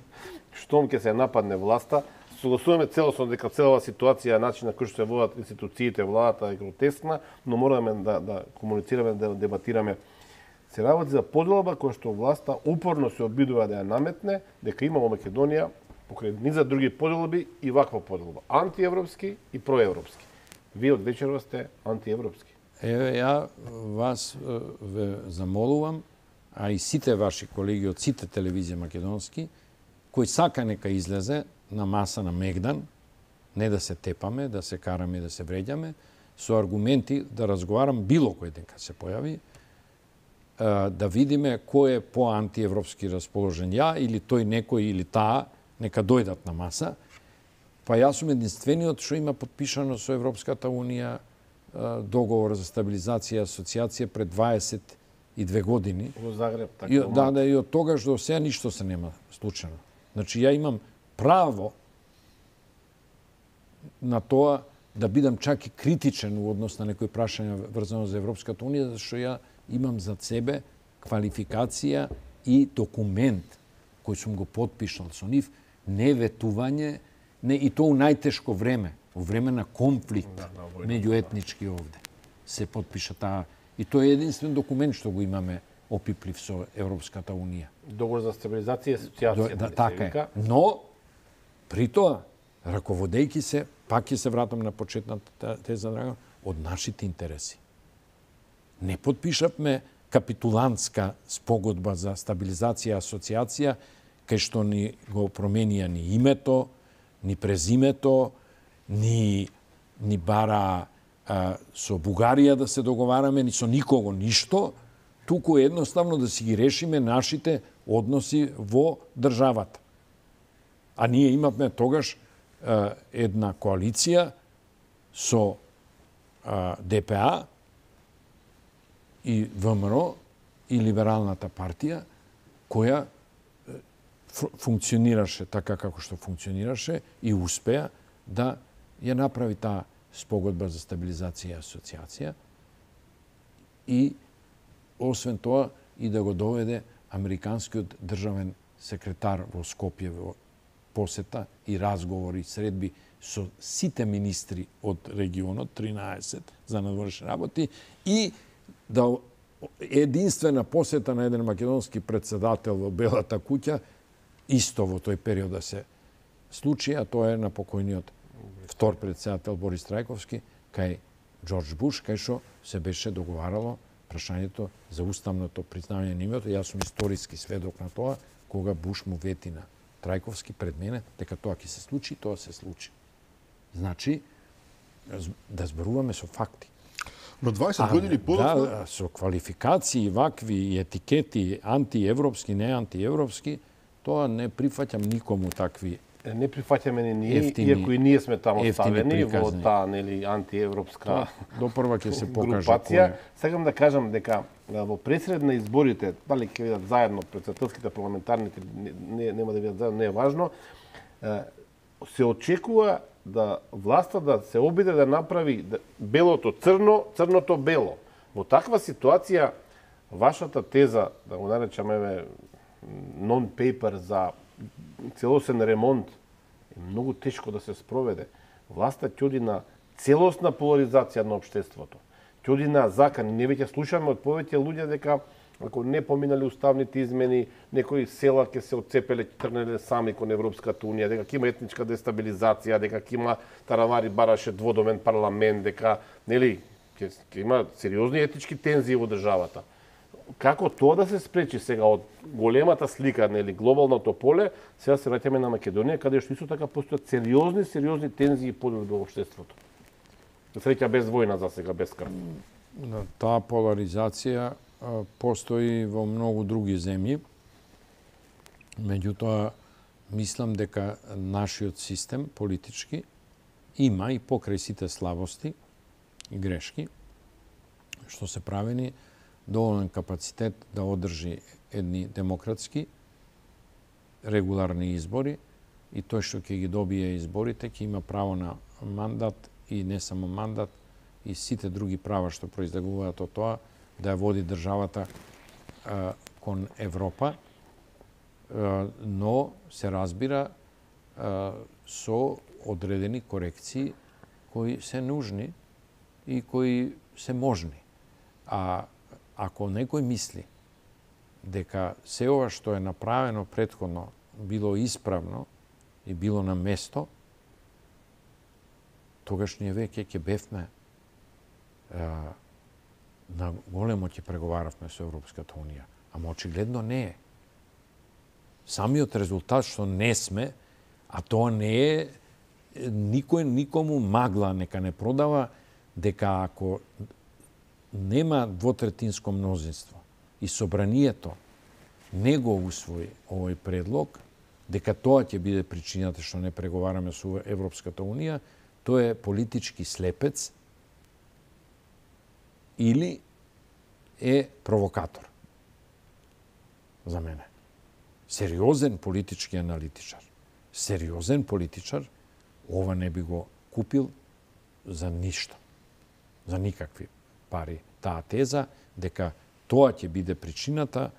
Штом ќе се нападне власта, согласуваме целосно дека целава ситуација, начин на кој што се водат институциите, владата е гротескна, но мораме да, да комуницираме, да дебатираме. Се работи за поделба која што власта упорно се обидува да ја наметне, дека има во Македонија покрај низа други поделби и ваква поделба. Антиевропски и проевропски. Вие од вечерва сте антиевропски. Еве, ја вас ве замолувам, а и сите ваши колеги од сите телевизии македонски, кој сака нека излезе на маса на Мегдан, не да се тепаме, да се караме и да се вреѓаме, со аргументи да разговарам било кој ден кога се појави, да видиме кој е по-антиевропски расположен, ја или тој некој или таа, нека дојдат на маса. Па јас сум единствениот што има подпишано со Европската Унија договор за стабилизација и асоциација пред дваесет и две години. Во Загреб, така. И, да, да, и од тогаш до сега ништо се нема случено. Значи, ја имам право на тоа да бидам чак и критичен у однос на некои прашања врзано за Европската Унија, зашто ја имам зад себе квалификација и документ кој сум го подпишал со нив, не ветување, не и тоа у најтешко време, во време на конфликт да, да, меѓуетнички овде се подпиша таа. И тоа е единствен документ што го имаме опиплив со Европската Унија. Договор за стабилизација и асоциација. Да, така е. Но, при тоа, раководејќи се, пак ќе се вратам на почетната теза, Драган, од нашите интереси. Не подпишавме капитулантска спогодба за стабилизација и асоциација, кај што ни го променија ни името, ни презимето, ни, ни бара а, со Бугарија да се договараме, ни со никого ништо, туку едноставно да си ги решиме нашите односи во државата. А ние имавме тогаш а, една коалиција со а, Д П А и В М Р и Либералната партија, која функционираше така како што функционираше и успеа да ја направи таа спогодба за стабилизација и асоциација и освен тоа и да го доведе американскиот државен секретар во Скопје во посета и разговори, средби со сите министри од регионот, тринаесет за надворешни работи, и да единствена посета на еден македонски председател во Белата куќа, исто во тој период да се случи, а тоа е на покојниот втор председател Борис Трајковски, кај Џорџ Буш, кај што се беше договарало прашањето за уставното признавање на името. Јас сум историски сведок на тоа, кога Буш му вети на Трајковски пред мене, дека тоа ќе се случи, тоа се случи. Значи, да зборуваме со факти. Но дваесет години подоцна... Да, со квалификации, вакви и етикети, антиевропски, не антиевропски, тоа не прифаќам никому такви. Не прифаќаме ни ние, ефтини, иако и ние сме таму ставени во приказни. таа нели антиевропска Допрва ќе се покаже групација. кој. Сакам да кажам дека во пресред на изборите, дали ќе видат заедно председателските, парламентарните, не, нема да видат заедно, не е важно, се очекува да власта да се обиде да направи белото црно, црното бело. Во таква ситуација, вашата теза, да го наречаме нон-пейпер за целосен ремонт, е многу тешко да се спроведе. Власта ќе оди на целосна поларизација на општеството. Ќе оди на закани. Не веќе слушаме од повеќе луѓе дека ако не поминали уставните измени, некои села ќе се отцепеле, тргнале сами кон Европската унија, дека ќе има етничка дестабилизација, дека ќе има Таравари бараше дводомен парламент, дека нели ќе, ќе има сериозни етнички тензии во државата. Како тоа да се спречи сега од големата слика, нели глобалното поле, сега се враќаме на Македонија, каде што исто така постојат сериозни, сериозни тензии и поделби во општеството. За среќа без војна за сега, без крв. Таа поларизација постои во многу други земји. Меѓутоа, мислам дека нашиот систем политички има и покрај сите слабости и грешки, што се правени доволен капацитет да одржи едни демократски, регуларни избори и тој што ќе ги добие изборите ќе има право на мандат и не само мандат и сите други права што произлегуваат од тоа да ја води државата а, кон Европа, а, но се разбира а, со одредени корекции кои се нужни и кои се можни. А ако некој мисли дека се ова што е направено претходно било исправно и било на место, тогаш ние веќе ќе бевме а, на големо ќе преговаравме со Европската унија. Ама очигледно не е. Самиот резултат што не сме, а тоа не е никој никому магла нека не продава дека ако нема двотретинско мнозинство и собранието не го усвои овој предлог, дека тоа ќе биде причината што не преговараме со Европската унија, тоа е политички слепец или е провокатор. За мене. Сериозен политички аналитичар. Сериозен политичар ова не би го купил за ништо. За никакви пари. Таа теза дека тоа ќе биде причината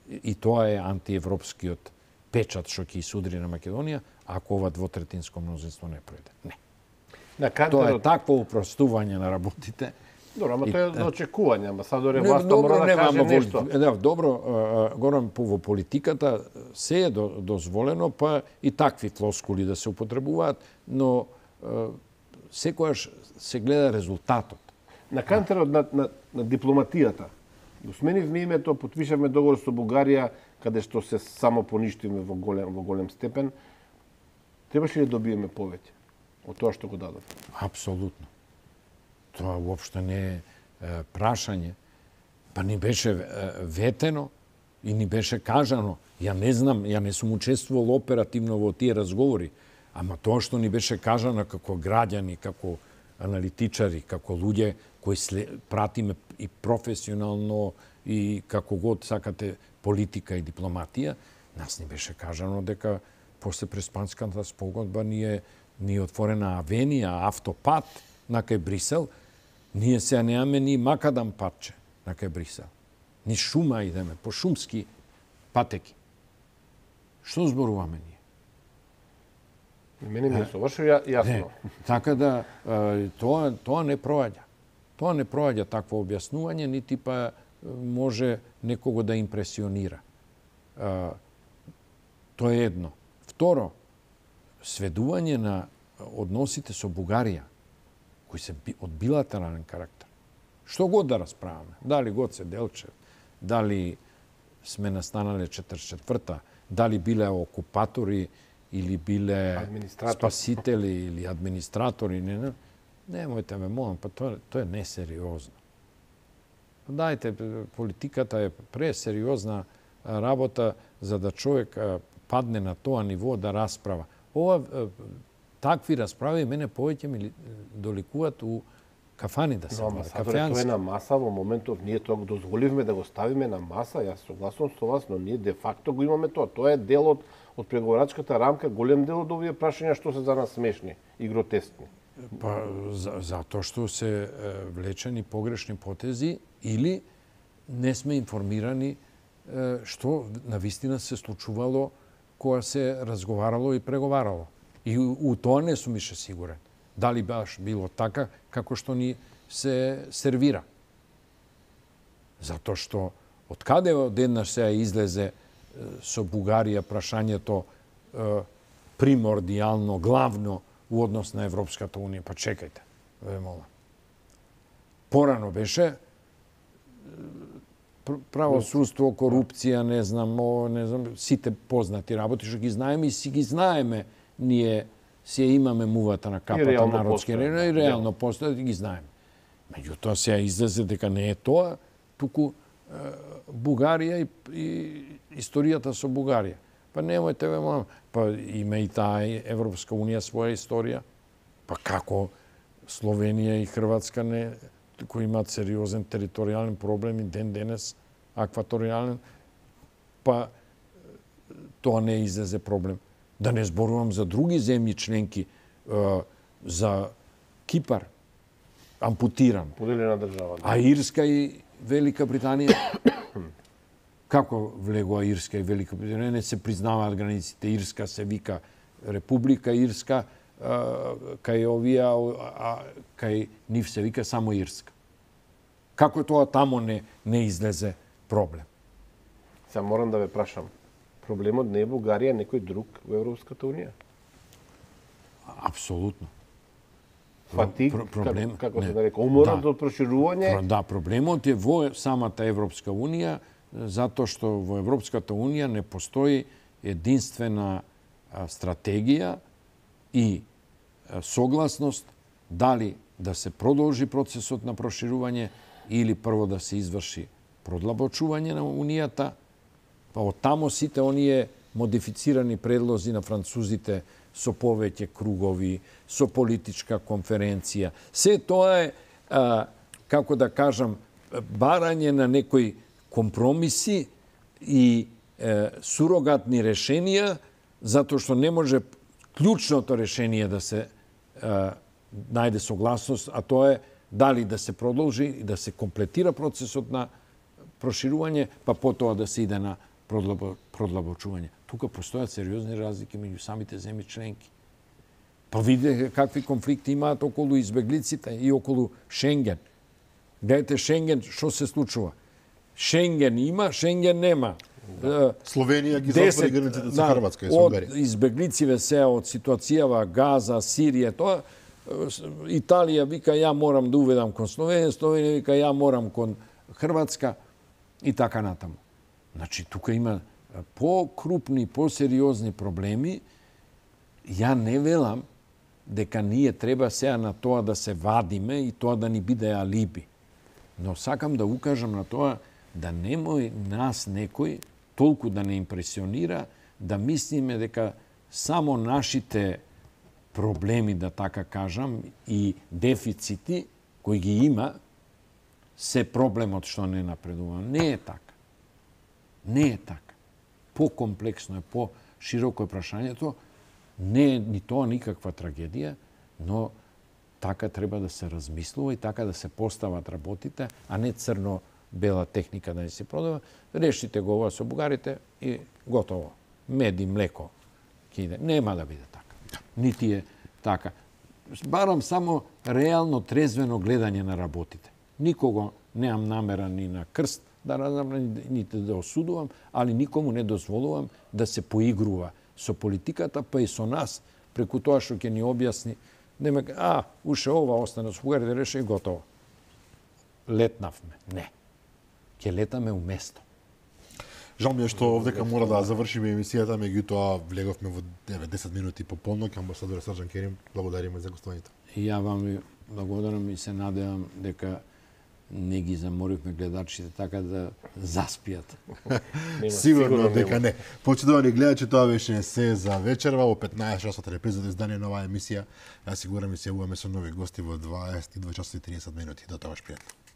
и тоа е антиевропскиот печат што ќе исудри на Македонија ако ова двотретинско мнозинство не пројде. Не. На Кантерот... Тоа е такво упростување на работите. Добро, ама тоа е до очекување, ама сад дори Не, власта добро, мора да нема, каже ама во- нешто. Да, добро, а, горам по- во политиката се е до- дозволено, па и такви флоскули да се употребуваат, но а, секојаш се гледа резултатот. На Кантерот на, на, на дипломатијата. Го сменивме името, потпишавме договор со Бугарија, каде што се само поништиме во голем, во голем степен. Требаше ли да добиеме повеќе од тоа што го дадов? Апсолутно. Тоа уопште не е, е прашање. Па ни беше е, ветено и ни беше кажано. Ја не знам, ја не сум учествувал оперативно во тие разговори, ама тоа што ни беше кажано како граѓани, како аналитичари, како луѓе кои сле, пратиме и професионално и како год сакате политика и дипломатија, нас ни беше кажано дека после Преспанската спогодба ние ни отворена авенија, автопат на кај Брисел, ние сега немаме ни макадам патче на кај Брисел. Ни шума идеме, по шумски патеки. Што зборуваме ние? Мене ми е совршено ја- јасно. Не, така да е, тоа тоа не проаѓа. Тоа не проаѓа такво објаснување, нити па може некого да импресионира. Тоа е едно. Второ, сведување на односите со Бугарија, кои се од билатерален карактер. Што год да расправаме, дали Гоце Делчев, дали сме настанале четридесет и четврта, дали биле окупатори или биле спасители или администратори, не, не, немојте ме молам, па тоа, тоа е несериозно. Дајте, политиката е пресериозна работа за да човек падне на тоа ниво да расправа. Ова, такви расправи мене повеќе ми доликуваат у кафани да се Но амбасадорот тоа е на маса во моментов, ние тоа го дозволивме да го ставиме на маса, јас согласувам со вас, но ние де факто го имаме тоа. Тоа е дел од, од преговорачката рамка, голем дел од овие прашања што се за нас смешни и гротескни. Па, за, затоа што се е, влечени погрешни потези или не сме информирани е, што навистина се случувало кога се разговарало и преговарало. И у, у тоа не сум ише сигурен. Дали баш било така како што ни се сервира. Затоа што од каде одеднаш сега излезе со Бугарија прашањето е, примордијално, главно у однос на Европската Унија. Па чекајте, ве молам. Порано беше правосудство, корупција, не знам, о, не знам, сите познати работи што ги знаеме и си ги знаеме ние си имаме мувата на капата народски рено и реално постојат и ги знаеме. Меѓутоа сега излезе дека не е тоа, туку е, Бугарија и, и историјата со Бугарија. Па немојте ве молам, па има и таа Европска Унија своја историја. Па како Словенија и Хрватска не кои имаат сериозен територијален проблем и ден денес акваторијален, па тоа не излезе проблем. Да не зборувам за други земји членки, за Кипар, ампутиран. Поделена држава. А Ирска и Велика Британија, како влегува Ирска и Велика Британија? Не се признаваат границите. Ирска се вика Република Ирска, кај овие, а кај нив се вика само Ирска. Како тоа тамо не, не излезе проблем? Сега морам да ве прашам. Проблемот не е Бугарија, некој друг во Европската Унија? Апсолутно. Фатиг, Про, проблем, како, како не, се нарека, уморот да, од проширување? Да, проблемот е во самата Европска Унија, затоа што во Европската Унија не постои единствена стратегија и согласност дали да се продолжи процесот на проширување или прво да се изврши продлабочување на Унијата, па од тамо сите оние модифицирани предлози на французите со повеќе кругови, со политичка конференција. Се тоа е, а, како да кажам, барање на некои компромиси и е, сурогатни решенија, затоа што не може клучното решение да се е, најде согласност, а тоа е дали да се продолжи и да се комплетира процесот на проширување, па потоа да се иде на продлабочување. Тука постојат сериозни разлики меѓу самите земји членки. Па видите какви конфликти имаат околу избеглиците и околу Шенген. Гледате Шенген, што се случува? Шенген има, Шенген нема. Да. Словенија ги затвори границите со Хрватска и со Унгарија. Од избеглициве се од ситуацијава Газа, Сирија, тоа Италија вика ја морам да уведам кон Словенија, Словенија вика ја морам кон Хрватска и така натаму. Значи тука има по-крупни, по-сериозни проблеми. Ја не велам дека ние треба сега на тоа да се вадиме и тоа да ни биде алиби. Но сакам да укажам на тоа да немој нас некој толку да не импресионира, да мислиме дека само нашите проблеми, да така кажам, и дефицити кои ги има, се проблемот што не напредува. Не е така. Не е така. По-комплексно е, по-широко е прашањето. Не е ни тоа никаква трагедија, но така треба да се размислува и така да се постават работите, а не црно-бела техника да не се продава. Решите го ова со бугарите и готово. Мед и млеко киде. Нема да биде така. Нити е така. Барам само реално трезвено гледање на работите. Никого неам намера ни на крст, да разабрам, нити да осудувам, али никому не дозволувам да се поигрува со политиката, па и со нас, преку тоа што ќе ни објасни, нема, а, уше ова остана со Бугарија да реше и готово. Летнавме. Не. Ќе летаме уместо. Жал ми е што овдека мора да завршиме емисијата, меѓутоа влеговме во девет-десет минути по полнок. Амбасадор Срđan Керим, благодариме за гостувањето. И ја вам ви благодарам и се надевам дека не ги заморивме гледачите така да заспијат. Сигурно дека не. Почитувани гледачи, тоа беше се за вечерва. Во петнаесет часот репризата издание на оваа емисија. Јас сигурам и се јавуваме со нови гости во дваесет и два часа и тридесет минути. До тогаш, пријатно.